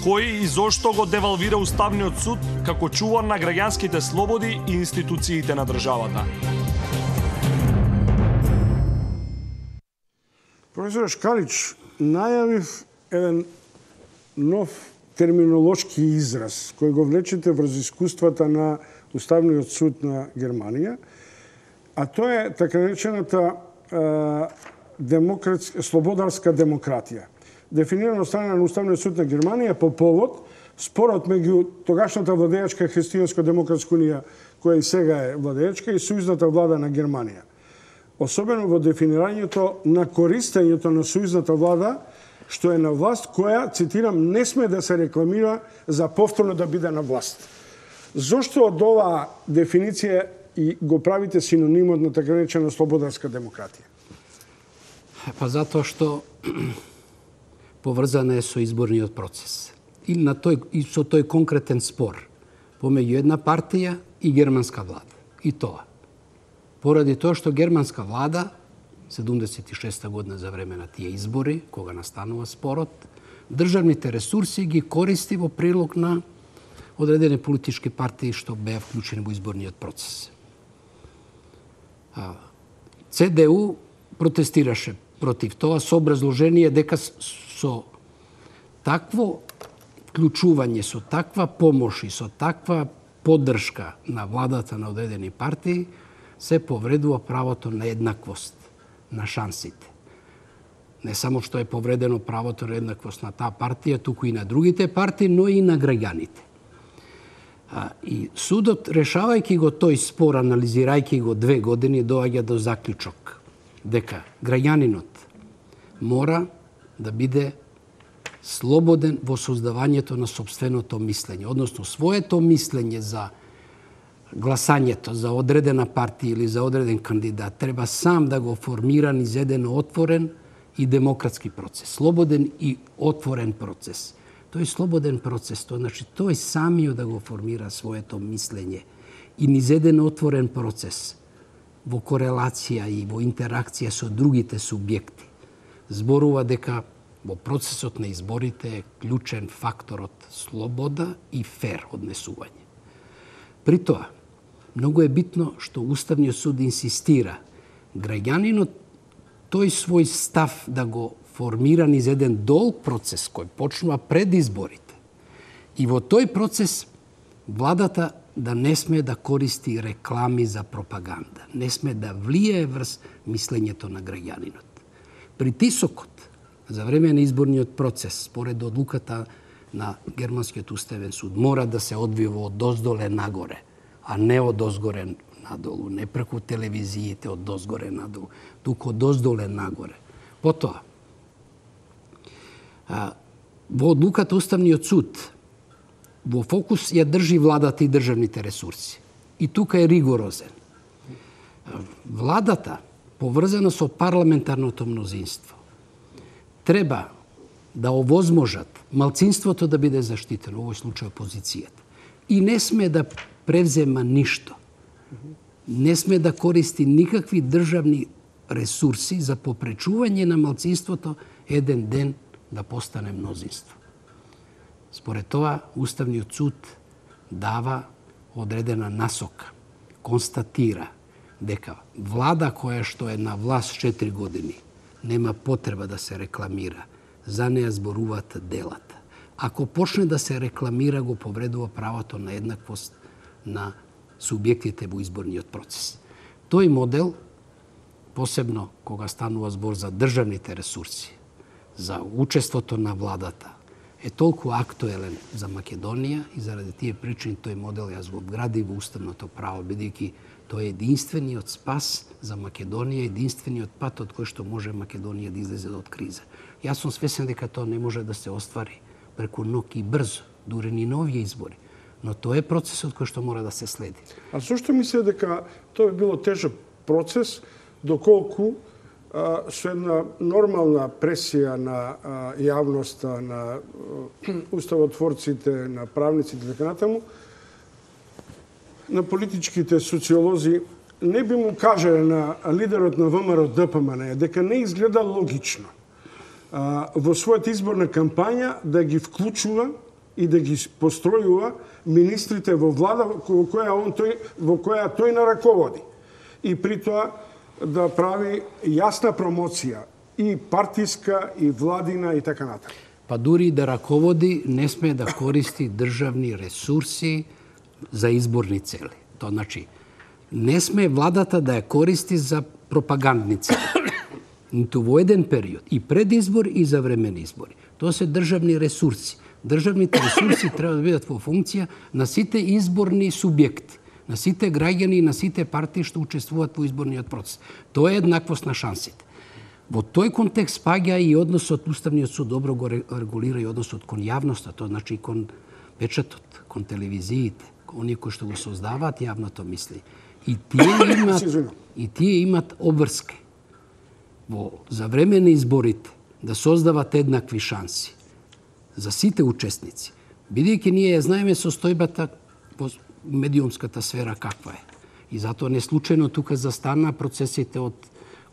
Кој и зошто го девалвира Уставниот суд како чувар на граѓанските слободи и институциите на државата? Професор Шкарич, најавив еден нов терминолошки израз кој го влечете врз искуствата на Уставниот суд на Германија, а тоа е така наречената демократска, слободарска демократија. Дефинирано страна на Уставниот суд на Германија по повод спорот меѓу тогашната владеачка Христијанско-демократска унија, која и сега е владеачка, и сојузната влада на Германија. Особено во дефинирањето на користењето на сојузната влада, што е на власт која, цитирам, не сме да се рекламира за повторно да биде на власт. Зошто од оваа дефиниција и го правите синонимот на така наречена слободарска демократија? Па затоа што поврзана е со изборниот процес. И, на тој, и со тој конкретен спор помеѓу една партија и германска влада. И тоа. Поради тоа што германска влада, седумдесет и шеста година за време на тие избори, кога настанува спорот, државните ресурси ги користи во прилог на одредени политички партии што беа вклучени во изборниот процес. ЦДУ протестираше против тоа со образложение дека со такво вклучување, со таква помош и со таква поддршка на владата на одредени партии се повредува правото на еднаквост на шансите. Не само што е повредено правото на еднаквост на таа партија, туку и на другите партии, но и на граѓаните. И судот, решавајќи го тој спор, анализирајќи го две години, доаѓа до заклучок дека граѓанинот мора да биде слободен во создавањето на сопственото мислење, односно своето мислење за гласањето за одредена партија или за одреден кандидат треба сам да го формира низ еден отворен и демократски процес, слободен и отворен процес. Тој слободен процес, тоа значи тој самиот да го формира своето мислење и низ еден отворен процес во корелација и во интеракција со другите субјекти. Зборува дека во процесот на изборите е клучен факторот слобода и фер однесување. При тоа, многу е битно што Уставниот суд инсистира граѓанинот тој свој став да го формира низ еден долг процес кој почнува пред изборите. И во тој процес владата да не сме да користи реклами за пропаганда, не сме да влие врз мислењето на граѓанинот. Притисокот за време на изборниот процес, според одлуката на Германскиот уставен суд, мора да се одвива од доздоле нагоре, а не од озгоре надолу, не преку телевизиите од дозгоре надолу, туку од доздоле нагоре. Потоа, во одлуката Уставниот суд во фокус ја држи владата и државните ресурси. И тука е ригорозен. Владата, поврзана со парламентарното мнозинство, треба да овозможат малцинството да биде заштитено, во овој случај опозицијата. И не сме да превзема ништо. Не сме да користи никакви државни ресурси за попречување на малцинството еден ден да постане мнозинство. Според тоа, Уставниот суд дава одредена насока, констатира дека влада која што е на власт четири години нема потреба да се рекламира, за неја зборуваат делата. Ако почне да се рекламира, го повредува правото на еднаквост на субјектите во изборниот процес. Тој модел, посебно кога станува збор за државните ресурси, за учеството на владата, е толку актуелен за Македонија и заради тие причини тој модел јас го вградив во уставното право, бидејќи тој е единствениот спас за Македонија, единствениот пат од кој што може Македонија да излезе од криза. Јас сум свесен дека тоа не може да се оствари преку ноќ и брзо, дури ни на овие избори. Но тоа е процесот кој што мора да се следи. А зошто мислите дека тоа би било тежок процес, доколку а, со една нормална пресија на а, јавноста, на а, уставотворците, на правниците и така натаму, на политичките социолози, не би му кажале на лидерот на ВМРО-ДПМН дека не изгледа логично а, во својата изборна кампања да ги вклучува и да ги постројува министрите во влада во која он тој во која тој нараководи. И при тоа да прави јасна промоција и партиска и владина и така натаму. Па дури да раководи не сме да користи државни ресурси за изборни цели. Тоа значи не сме владата да ја користи за пропагандни цели. Ниту во еден период, и пред избор и за време на избори. Тоа се државни ресурси. Државните ресурси треба да бидат во функција на сите изборни субјекти, на сите граѓани и на сите партии што учествуваат во изборниот процес. Тоа е еднаквост на шансите. Во тој контекст спаѓа и односот, Уставниот суд добро го регулира и односот кон јавноста, тоа значи и кон печатот, кон телевизиите, оние кои што го создаваат јавното мисли. И тие имат и тие имат обврска во за време на изборите да создават еднакви шанси за сите учесници. Бидејќи ние ја знаеме состојбата во медиумската сфера каква е. И затоа не случајно тука застана процесите од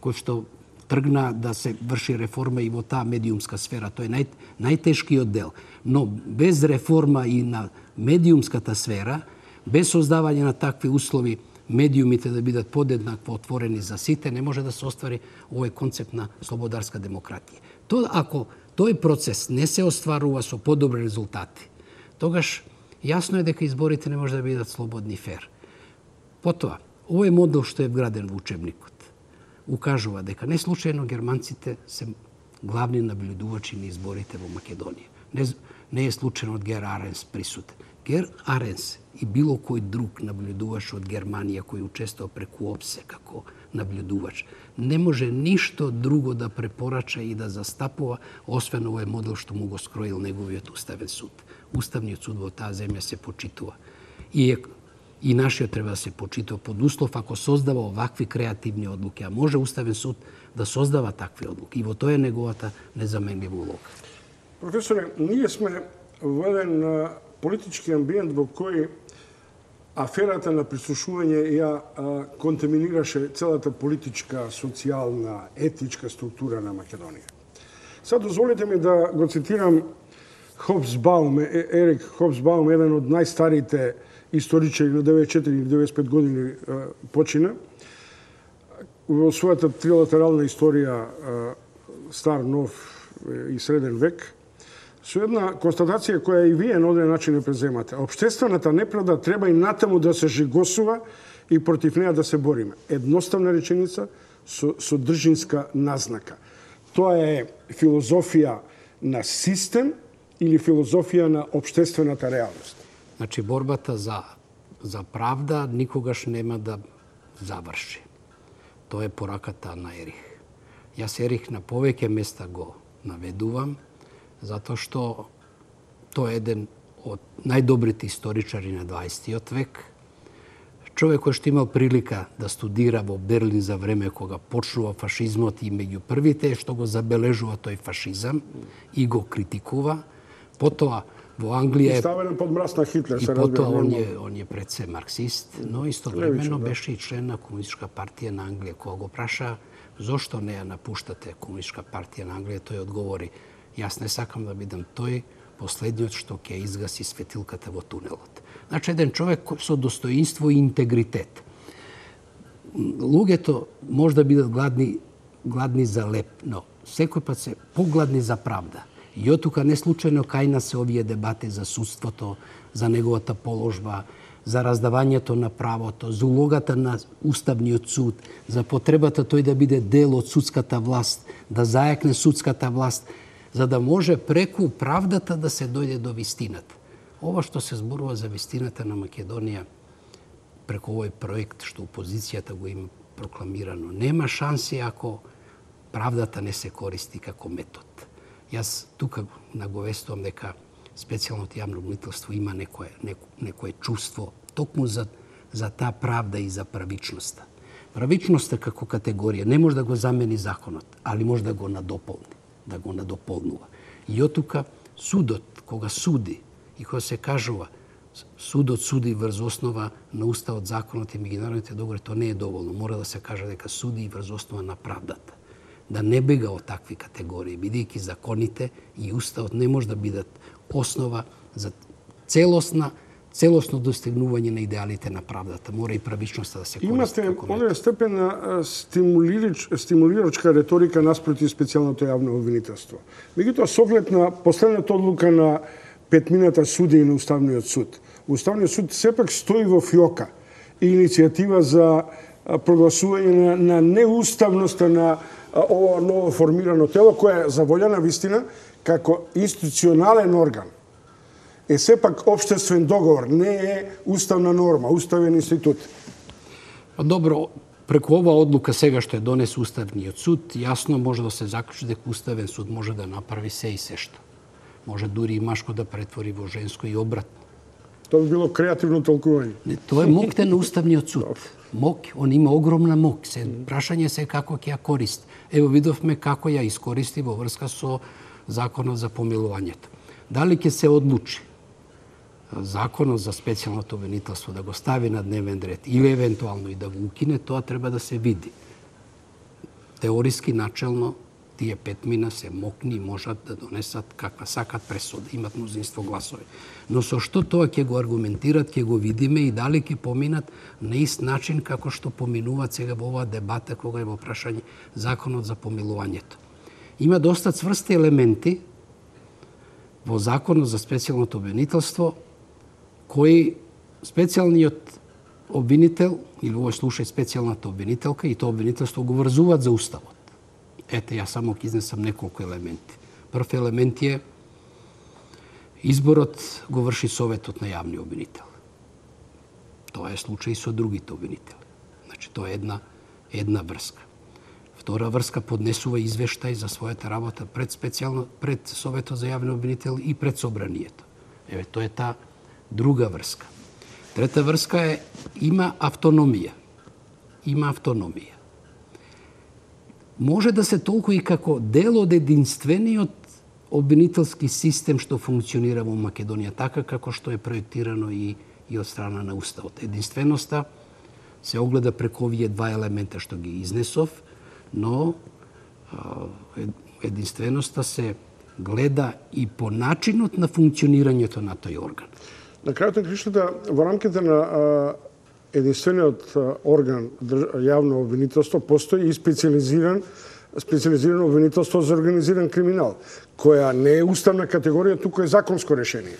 кои што тргна да се врши реформа и во таа медиумска сфера. Тој е нај, најтешкиот дел. Но без реформа и на медиумската сфера, без создавање на такви услови медиумите да бидат подеднакво отворени за сите, не може да се оствари овој концепт на слободарска демократија. Тоа ако тој процес не се остварува со подобри резултати, тогаш јасно е дека изборите не може да бидат слободни и фер. Потоа, овој модел што е вграден во учебникот укажува дека не случајно германците се главни наблюдувачи на изборите во Македонија. Не, не е случајно од Гер Аренс присутен. Гер Аренс и било кој друг наблюдуваш од Германија кој учествува преку ОПСЕ како наблюдувач, не може ништо друго да препорача и да застапува, освен овој модел што му го скроил неговиот Уставен суд. Уставниот суд во таа земја се почитува. И, е, и нашиот треба да се почитува под услов ако создава овакви креативни одлуки. А може Уставен суд да создава такви одлуки. И во тоа е неговата незаменлива улога. Професоре, ние сме во еден политички амбиент во кој аферата на прислушување ја а, контаминираше целата политичка, социјална, етничка структура на Македонија. Сега дозволите ми да го цитирам Хобсбаум, Ерик Хобсбаум, еден од најстарите историчари на деветдесет и четири или деветдесет и пет години а, почина. Во својата трилатерална историја а, стар, нов и среден век, со една констатација која и вие на оден начин не преземате. Општествената неправда треба и натаму да се жигосува и против неа да се бориме. Едноставна реченица со содржинска назнака. Тоа е филозофија на систем или филозофија на општествената реалност. Значи борбата за за правда никогаш нема да заврши. Тоа е пораката на Ерих. Јас Ерих на повеќе места го наведувам, затоа што тој е еден од најдобрите историчари на дваесеттиот век. Човек кој што имал прилика да студира во Берлин за време кога почнува фашизмот и меѓу првите што го забележува тој фашизам и го критикува. Потоа во Англија е ставен под мраз на Хитлер, и се потоа разбира. он е он е пред се марксист, но истовремено Левично, да. беше и член на Комунистичка партија на Англија. Кога го праша зошто не ја напуштате Комунистичка партија на Англија, тој одговори: јас не сакам да бидам тој последниот што ќе изгаси светилката во тунелот. Значи, еден човек со достоинство и интегритет. Луѓето може да бидат гладни, гладни за леп, но секој пат се погладни за правда. И од тука не случајно кај нас се овие дебати за судството, за неговата положба, за раздавањето на правото, за улогата на Уставниот суд, за потребата тој да биде дел од судската власт, да зајакне судската власт. за да може преку правдата да се дојде до вистината. Ова што се зборува за вистината на Македонија преку овој проект што опозицијата го има прокламирано, нема шанси ако правдата не се користи како метод. Јас тука наговестувам дека специјалното јавно обвинителство има некое, неко, некое чувство токму за, за таа правда и за правичноста. Правичноста како категорија не може да го замени законот, али може да го надополни, да го надополнува. И од тука судот, кога суди и кога се кажува судот суди врз основа на уставот, законот и меѓународните договори, тоа не е доволно. Мора да се каже дека суди и врз основа на правдата. Да не бега од такви категории, бидејќи законите и уставот не може да бидат основа за целосна целосно достигнување на идеалите на правдата. Мора и правичноста да се користи. Имате одреден степен на стимулирач, стимулирачка реторика наспроти специјалното јавно обвинителство. Меѓутоа, со оглед на последната одлука на петмината суди на Уставниот суд, Уставниот суд сепак стои во фиока и иницијатива за прогласување на, на неуставноста на ова ново формирано тело, кое е заволјана вистина како институционален орган. Е сепак општествен договор, не е уставна норма, уставен институт. Добро, преку ова одлука сега што е донес Уставниот суд, јасно може да се заклучи дека Уставен суд може да направи се и се што. Може дури и машко да претвори во женско и обратно. Тоа би било креативно толкување. Не, тоа е мокте на Уставниот суд. Мок, он има огромна мок. Се прашање се како ќе ја користи. Ево видовме како ја искористи во врска со законот за помилувањето. Дали ќе се одлучи законот за специјалното обвинителство да го стави на дневен ред или евентуално и да го укине, тоа треба да се види. Теориски, начелно, тие петмина се мокни и можат да донесат каква сакат пресуда, имат мнозинство гласови. Но со што тоа ќе го аргументират, ќе го видиме и дали ќе поминат на ист начин како што поминуваат сега во оваа дебата кога е во прашање законот за помилувањето. Има доста цврсти елементи во законот за специјалното обвинителство кои специјалниот обвинител, или во овој случај специјалната обвинителка и тоа обвинителство го врзуваат за уставот. Ете, јас само ќе изнесам неколку елементи. Прв елемент е изборот го врши Советот на јавни обвинител. Тоа е случај со другите обвинители. Значи, тоа е една, една врска. Втора врска поднесува извештај за својата работа пред специјално пред Советот за јавни обвинител и пред собранието. Еве, тоа е таа друга врска. Трета врска е има автономија. Има автономија. Може да се толкува и како дел од единствениот обвинителски систем што функционира во Македонија, така како што е проектирано и, и од страна на Уставот. Единственоста се огледа преку овие два елемента што ги изнесов, но единственоста се гледа и по начинот на функционирањето на тој орган. На крајот на кришната, во рамките на единствениот орган јавно обвинителство постои и специализиран специализирано обвинителство за организиран криминал, која не е уставна категорија, туку е законско решение.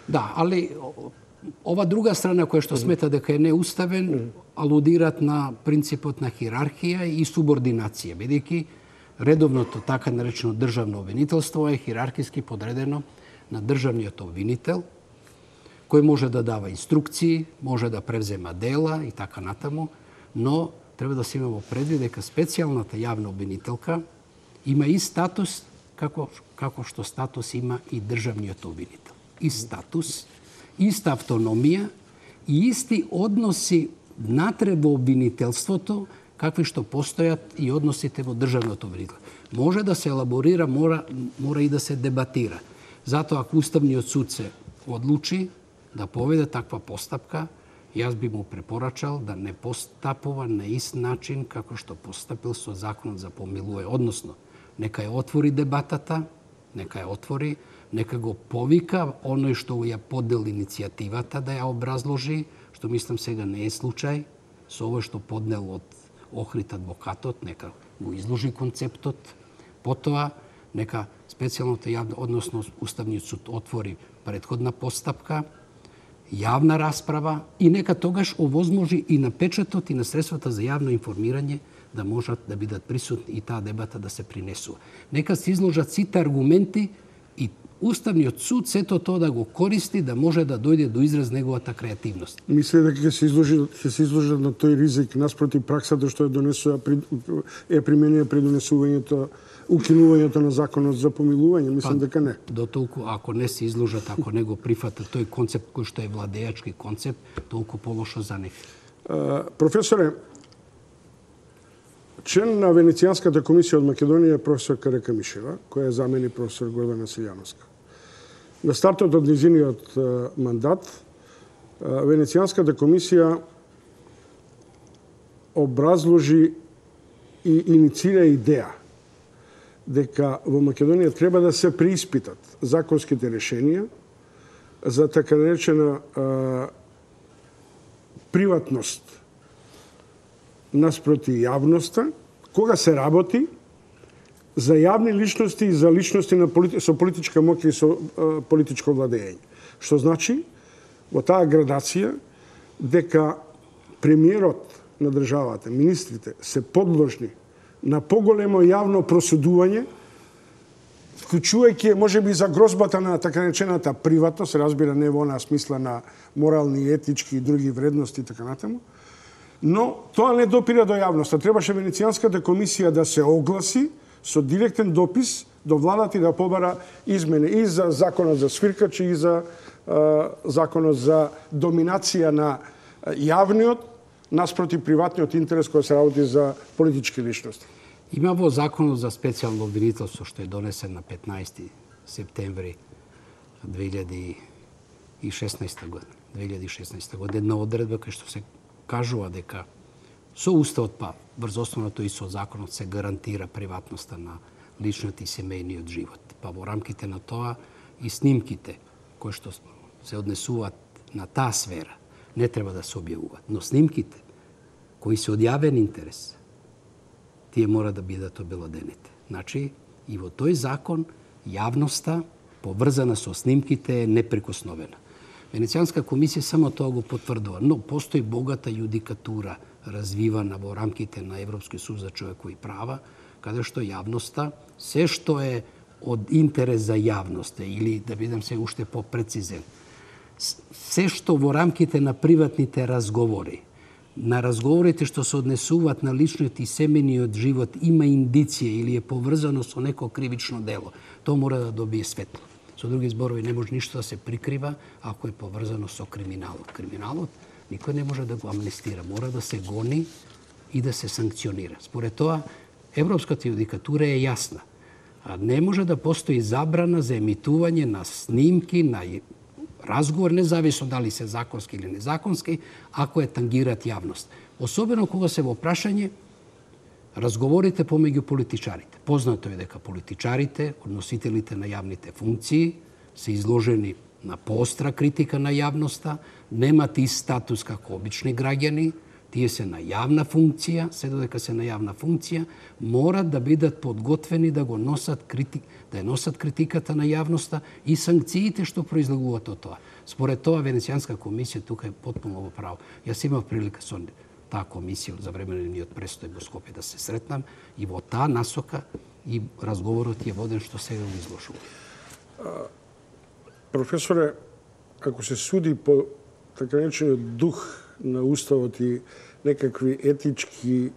Да, али ова друга страна која што смета дека е неуставен, алудираат на принципот на хирархија и субординација, бидејќи редовното така наречено државно обвинителство е хирархиски подредено на државниот обвинител, кој може да дава инструкции, може да превзема дела и така натаму, но треба да се има во предвид дека специјалната јавна обвинителка има и статус како, како што статус има и државниот обвинител. И статус, иста автономија и исти односи натре во обвинителството, какви што постојат и односите во државното обвинителство. Може да се елаборира, мора, мора и да се дебатира. Затоа, ако Уставниот суд се одлучи да поведе таква постапка, јас би му препорачал да не постапува на ист начин како што постапил со законот за помилување. Односно, нека ја отвори дебатата, нека ја отвори, нека го повика оној што ја подел иницијативата да ја образложи, што мислам сега не е случај, со ово што поднел од Охрид адвокатот, нека го изложи концептот, потоа нека специјалното јавно, односно Уставниот суд отвори претходна постапка, јавна расправа и нека тогаш овозможи и на печатот и на средствата за јавно информирање да можат да бидат присутни и таа дебата да се принесува. Нека се изложат сите аргументи и Уставниот суд сето тоа да го користи да може да дојде до израз неговата креативност. Мисли дека ќе се изложи ќе се изложат на тој ризик наспроти праксата што е донесува е применија при донесувањето укинувањето на законот за помилување, мислам па, дека не. До толку ако не се изложат, ако не го прифатат тој концепт кој што е владеачки концепт, толку полошо за нив. Професоре, член на Венецијанската комисија од Македонија е професор Карека Мишева, која е замени професор Гордана Силјановска. На стартот од низиниот мандат, Венецијанската комисија образложи и иницира идеја дека во Македонија треба да се преиспитат законските решенија за така наречена а, приватност наспроти јавноста, кога се работи за јавни личности и за личности на полити... со политичка моќ и со а, политичко владење. Што значи, во таа градација, дека премиерот на државата, министрите, се подложни на поголемо јавно просудување, вклучувајќи можеби за грозбата на така наречената приватност, разбира не во онаа смисла на морални, етички и други вредности и така натаму, но тоа не допира до јавноста. Требаше Венецијанската комисија да се огласи со директен допис до владата и да побара измени и за законот за свиркачи и за е, законот за доминација на јавниот наспроти приватниот интерес кој се работи за политички личности. Има во законот за специјално обвинителство што е донесен на петнаести септември две илјади и шеснаесета година, две илјади и шеснаесета година, една одредба кај што се кажува дека со уставот па врз основното и со законот се гарантира приватноста на личниот и семејниот живот. Па во рамките на тоа и снимките кои што се однесуваат на таа сфера не треба да се објавуваат, но снимките кои се од јавен интерес тие мора да бидат обелодените. Значи, и во тој закон јавноста поврзана со снимките е неприкосновена. Венецијанска комисија само тоа го потврдува, но постои богата јудикатура развивана во рамките на Европскиот суд за човекови права, каде што јавноста, се што е од интерес за јавноста, или да бидам се уште попрецизен, се што во рамките на приватните разговори, на разговорите што се однесуваат на личниот и семејниот живот има индиција или е поврзано со неко кривично дело, тоа мора да добие светло. Со други зборови, не може ништо да се прикрива ако е поврзано со криминалот. Криминалот никој не може да го амнестира, мора да се гони и да се санкционира. Според тоа, европската јудикатура е јасна. А не може да постои забрана за емитување на снимки, на разговор, независно дали се законски или незаконски, ако е тангират јавност. Особено кога се во прашање разговорите помеѓу политичарите. Познато е дека политичарите, односителите на јавните функции, се изложени на поостра критика на јавноста, немат и статус како обични граѓани, тие се на јавна функција, се додека се на јавна функција, морат да бидат подготвени да го носат критик, да ја носат критиката на јавноста и санкциите што произлегуваат од тоа. Според тоа Венецијанска комисија тука е потпуно во право. Јас имав прилика со таа комисија за време на нивниот престој во Скопје да се сретнам и во таа насока и разговорот е воден што сега го изложува. Професоре, ако се суди по така наречениот дух на уставот и некакви етички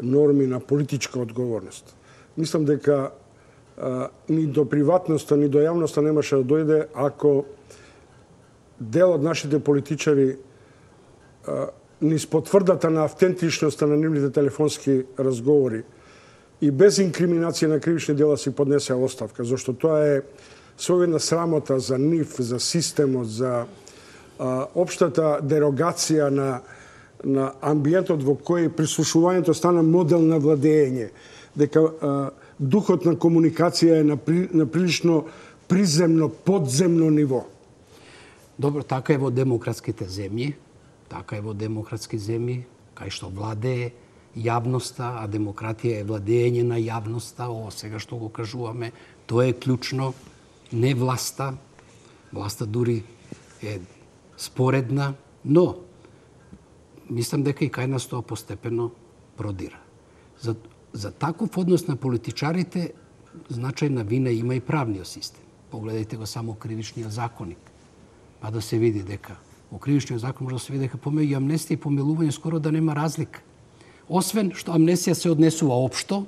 норми на политичка одговорност, мислам дека а, ни до приватноста, ни до јавноста немаше да дојде ако дел од нашите политичари а, низ потврдата на автентичноста на нивните телефонски разговори и без инкриминација на кривични дела си поднесеа оставка, зашто тоа е својна срамота за нив, за системот, за а, општата дерогација на, на амбиентот во кој прислушувањето стана модел на владење, дека а, духот на комуникација е на, при, на прилично приземно, подземно ниво. Добро, така е во демократските земји, така е во демократски земји, кај што владее јавноста, а демократија е владење на јавноста, ово сега што го кажуваме, тоа е клучно, не власта, власта дури е споредна, но мислам дека и кај нас тоа постепено продира. За, за таков однос на политичарите значајна вина има и правниот систем. Погледайте го само кривичниот законник. Па да се види дека во кривичниот закон може да се види дека помеѓу амнестија и помилување скоро да нема разлика. Освен што амнестија се однесува општо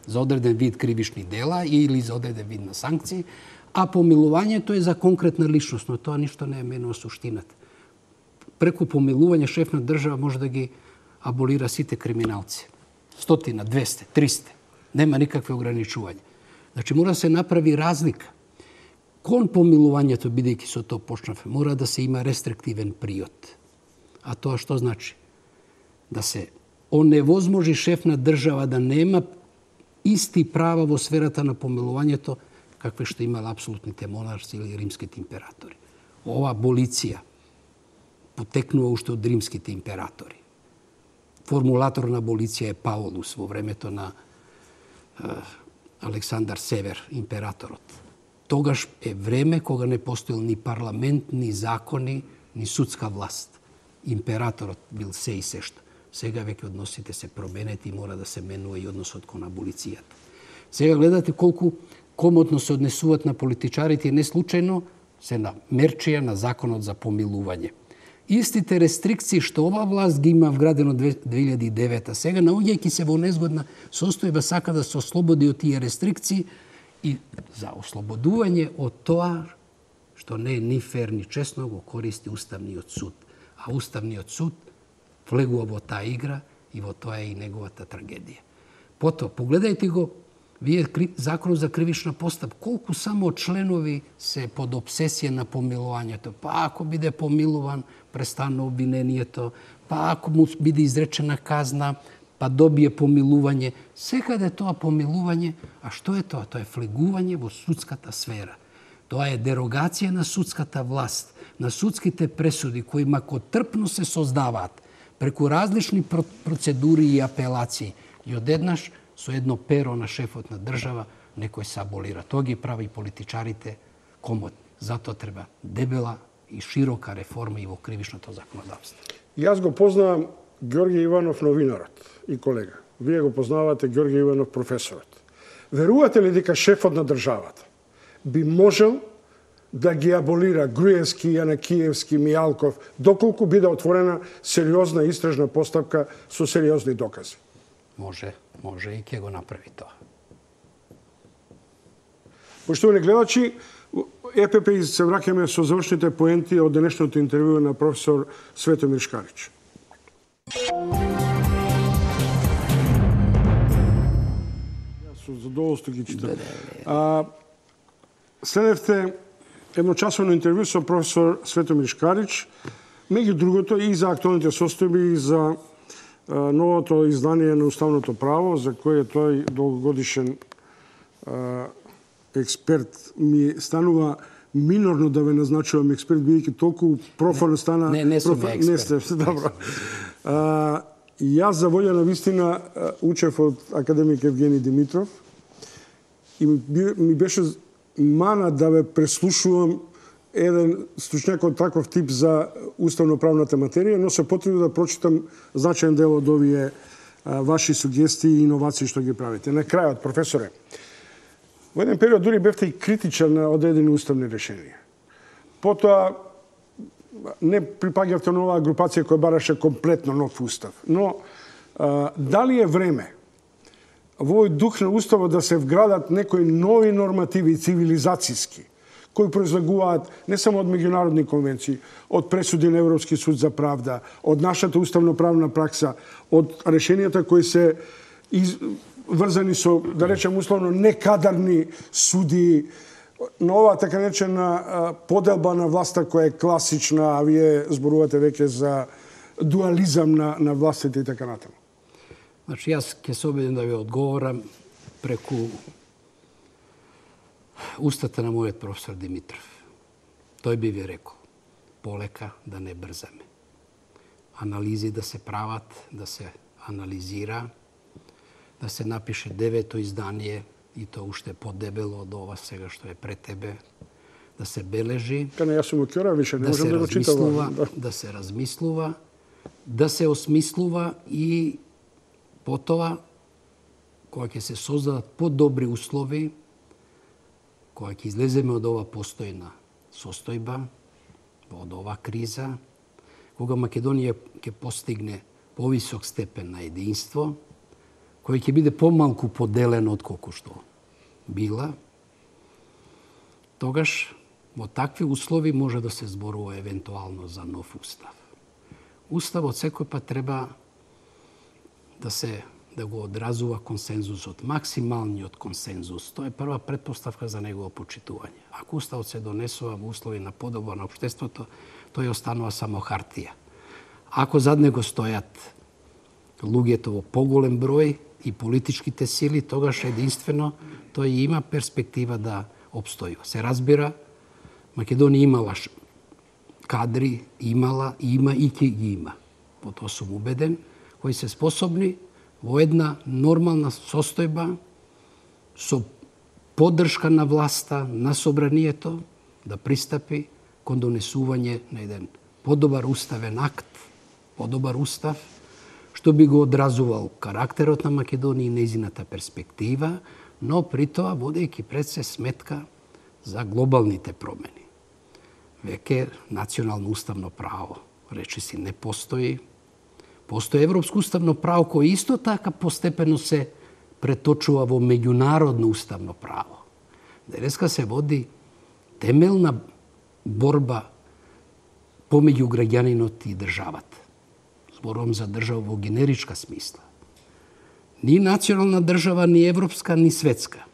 за одреден вид кривични дела или за одреден вид на санкции, а помилувањето е за конкретна личност, но тоа ништо не е менува суштината. Преку помилување шеф на држава може да ги аболира сите криминалци. Стотина, двесте, триста. Нема никакви ограничувања. Значи мора да се направи разлика. Кон помилувањето, бидејќи со тоа почнавме, мора да се има рестриктивен приод. А тоа што значи? Да се оневозможи шеф на држава да нема исти права во сферата на помилувањето какви што имале апсолутните монарси или римските императори. Ова аболиција потекнува уште од римските императори. Формулатор на аболиција е Паулус во времето на е, Александар Север, императорот. Тогаш е време кога не постоел ни парламент, ни закони, ни судска власт. Императорот бил се и се што. Сега веќе односите се променети и мора да се менува и односот кон аболицијата. Сега гледате колку комотно се однесуваат на политичарите и не случајно се на мерчија на законот за помилување. Истите рестрикции што ова власт ги има вградено две илјади и девета, сега наоѓајќи се во незгодна состојба сака да се ослободи од тие рестрикции и за ослободување од тоа што не е ни фер ни честно го користи Уставниот суд. А Уставниот суд влегува во таа игра и во тоа е и неговата трагедија. Потоа, погледајте го, вие законот за кривична постапка, колку само членови се под обсесија на помилувањето. Па ако биде помилуван, престана обвинението, па ако му биде изречена казна, па добие помилување. Секаде тоа помилување, а што е тоа? Тоа е влегување во судската сфера. Тоа е дерогација на судската власт, на судските пресуди кои макотрпно се создаваат преку различни процедури и апелации. И одеднаш со едно перо на шефот на држава некој се аболира. Тоа ги прави политичарите комотни. Затоа треба дебела и широка реформа и во кривичното законодавство. Јас го познавам Ѓорѓе Иванов, новинарот и колега. Вие го познавате Ѓорѓе Иванов, професорот. Верувате ли дека шефот на државата би можел да ги аболира Груевски, Јанакиевски, Мијалков, доколку биде отворена сериозна истражна постапка со сериозни докази? Може, може и ќе го направи тоа. Поштовани гледачи, ЕПП и се враќаме со завршните поенти од денешното интервју на професор Светомир Шкарич. Јас со задоволство ги читам. А, следевте едночасовно интервју со професор Светомир Шкарич, меѓу другото и за актуалните состојби и за а, новото издание на Уставното право, за кое тој долгогодишен а, експерт ми станува минорно да ве назначувам експерт, бидејќи толку профано стана... Не, не сум проф... експерт. Не сте, добро. А, јас за волја на вистина учев од академик Евгений Димитров и ми, ми беше мана да ве преслушувам еден стручњак од таков тип за уставно-правната материја, но се потребно да прочитам значаен дел од овие а, ваши сугестии и иновации што ги правите. На крајот, професоре, во еден период дури бевте и критичен на одредени уставни решенија. Потоа не припаѓавте на оваа групација која бараше комплетно нов устав. Но а, дали е време во овој дух на уставот да се вградат некои нови нормативи цивилизацијски, кои произлегуваат не само од меѓународни конвенции, од пресуди на Европски суд за правда, од нашата уставно-правна пракса, од решенијата кои се из... врзани со, да речем условно, некадарни суди, на оваа така речена поделба на власта која е класична, а вие зборувате веќе за дуализам на, на властите и така натаму. Значи, јас ќе се обидам да ви одговорам преку устата на мојот професор Димитров. Тој би ви рекол, полека да не брзаме. Анализи да се прават, да се анализира, да се напише девето издание, и то уште подебело од ова сега што е пред тебе, да се бележи, Кане, јас сум окјора, више не да можам се да го читам. размислува, Да. да се размислува, да се осмислува и потоа кога ќе се создадат подобри услови, кога ќе излеземе од ова постојна состојба, од ова криза, кога Македонија ќе постигне повисок степен на единство, кој ќе биде помалку поделен од колку што била, тогаш во такви услови може да се зборува евентуално за нов устав. Уставот секој пат треба да се да го одразува консензусот, максималниот консензус. Тоа е прва претпоставка за негово почитување. Ако уставот се донесува во услови на подобро на општеството, тој останува само хартија. Ако зад него стојат луѓето во поголем број и политичките сили, тогаш единствено тој има перспектива да обстојува. Се разбира, Македонија имала кадри, имала, има и ќе ги има. По тоа сум убеден, кои се способни во една нормална состојба со поддршка на власта, на собранието, да пристапи кон донесување на еден подобар уставен акт, подобар устав, што би го одразувал карактерот на Македонија и нејзината перспектива, но при тоа водејќи пред се сметка за глобалните промени. Веќе национално уставно право, речиси, не постои. Постои европско уставно право кое исто така постепено се преточува во меѓународно уставно право. Денеска се води темелна борба помеѓу граѓанинот и државата. Зборувам за држава во генеричка смисла. Ни национална држава, ни европска, ни светска.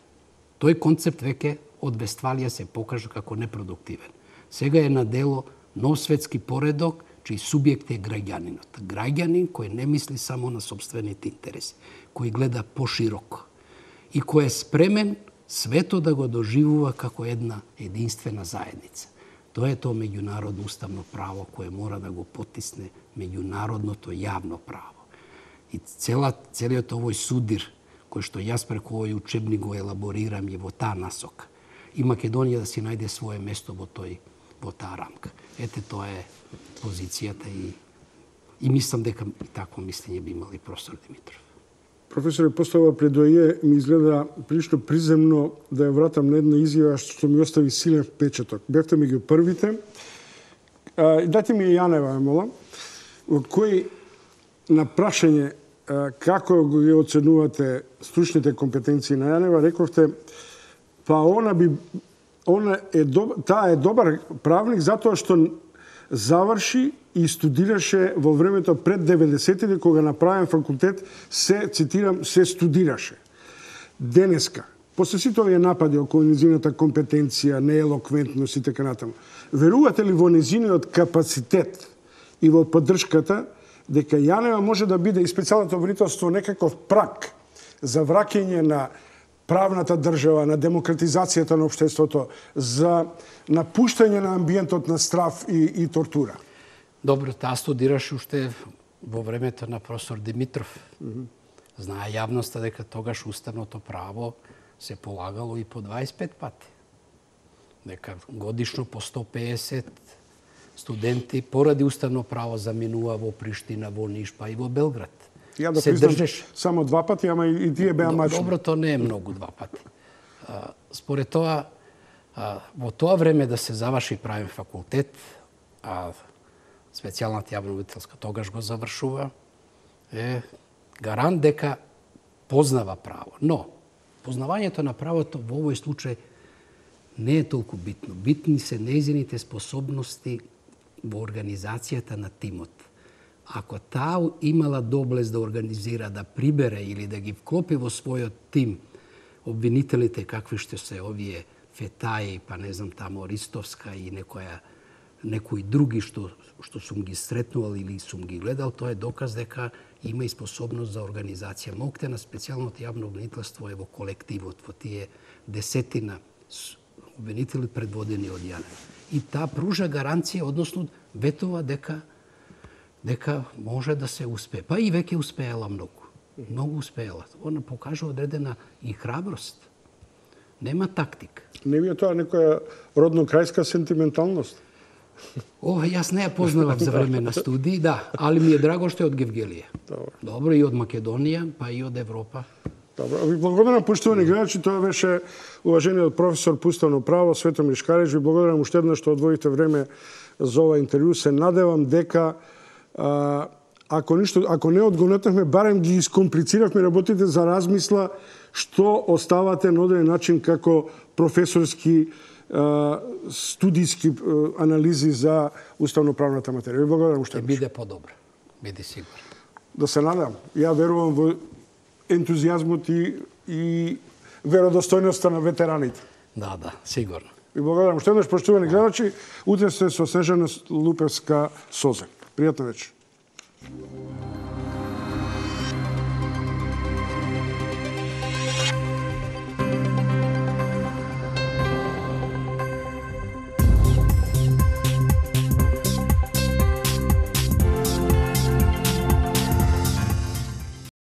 Тој концепт веќе од Вестфалија се покажа како непродуктивен. Сега е на дело нов светски поредок, чиј субјект е граѓанинот. Граѓанин кој не мисли само на собствените интереси, кој гледа пошироко и кој е спремен светот да го доживува како една единствена заедница. Тоа е тоа меѓународно уставно право кое мора да го потисне меѓународното јавно право. И цела, целиот овој судир, кој што јас преку овој учебник го елаборирам е во таа насока. И Македонија да си најде свое место во тој во таа рамка. Ете, тоа е позицијата и, и мислам дека такво мислење би имал и професор Димитров. Професоре, после ова предоје ми изгледа прилично приземно да ја вратам на една изјава што ми остави силен впечаток. Бевте меѓу првите. А, дайте ми Јанева, молам, од кој на прашање а, како ги оценувате стручните компетенции на Јанева, рековте, па она би она е доб... таа е добар правник затоа што заврши и студираше во времето пред деветдесетите, кога на правен факултет се, цитирам, се студираше. Денеска, после сите овие напади околу незината компетенција, неелоквентност и така натаму, верувате ли во незиниот капацитет и во поддршката дека Јанева може да биде и специјалното обвинителство некаков прак за враќање на правната држава, на демократизацијата на општеството, за напуштање на амбиентот на страв и, и тортура? Добро, таа студираше уште во времето на професор Димитров. Mm-hmm. Знае јавноста дека тогаш уставното право се полагало и по дваесет и пет пати. Дека годишно по сто пеесет студенти поради уставно право заминува во Приштина, во Ниш, па и во Белград. Ја да признам само два пати, ама и тие беа мачни. Добро, то не е многу два пати. Според тоа, во тоа време да се заврши правен факултет, а специјалната јавна обвинителска тогаш го завршува, е гарант дека познава право. Но, познавањето на правото во овој случај не е толку битно. Битни се нејзините способности во организацијата на тимот. Ако таа имала доблест да организира, да прибере или да ги вклопи во својот тим обвинителите, какви што се овие Фетаи, па не знам тамо Ристовска и некоја некои други што што сум ги сретнувал или сум ги гледал, тоа е доказ дека има и способност за организација. Моќте на специјалното јавно обвинителство е во колективот, во тие десетина обвинители предводени од Јанева. И таа пружа гаранција, односно ветува дека дека може да се успее. Па и веќе успеела многу. Многу успеела. Она покажа одредена и храброст. Нема тактика. Не ви е тоа некоја родно-крајска сентименталност? О, јас не ја познавам за време на студии, да, али ми е драго што е од Гевгелија. Добро. Добро, и од Македонија, па и од Европа. Добро, ви благодарам, поштовани гледачи, тоа беше уважениот професор по уставно право Светомир Шкарич. Ви благодарам уште еднаш што одвоите време за ова интервју. Се надевам дека а, ако ништо, ако не одгонетнахме, барем ги искомплициравме работите за размисла што оставате на одреден начин како професорски а, студиски а, анализи за уставно-правната материја. Ви благодарам уште еднаш. Биде подобро, биде сигурен. Да се надам. Ја верувам во ентузијазмот и, и веродостојноста на ветераните. Да, да, сигурно. И благодарам уште еднаш, поштовани гледачи. Утре сте со Снежана Лупевска Созе. Пријатна вечер.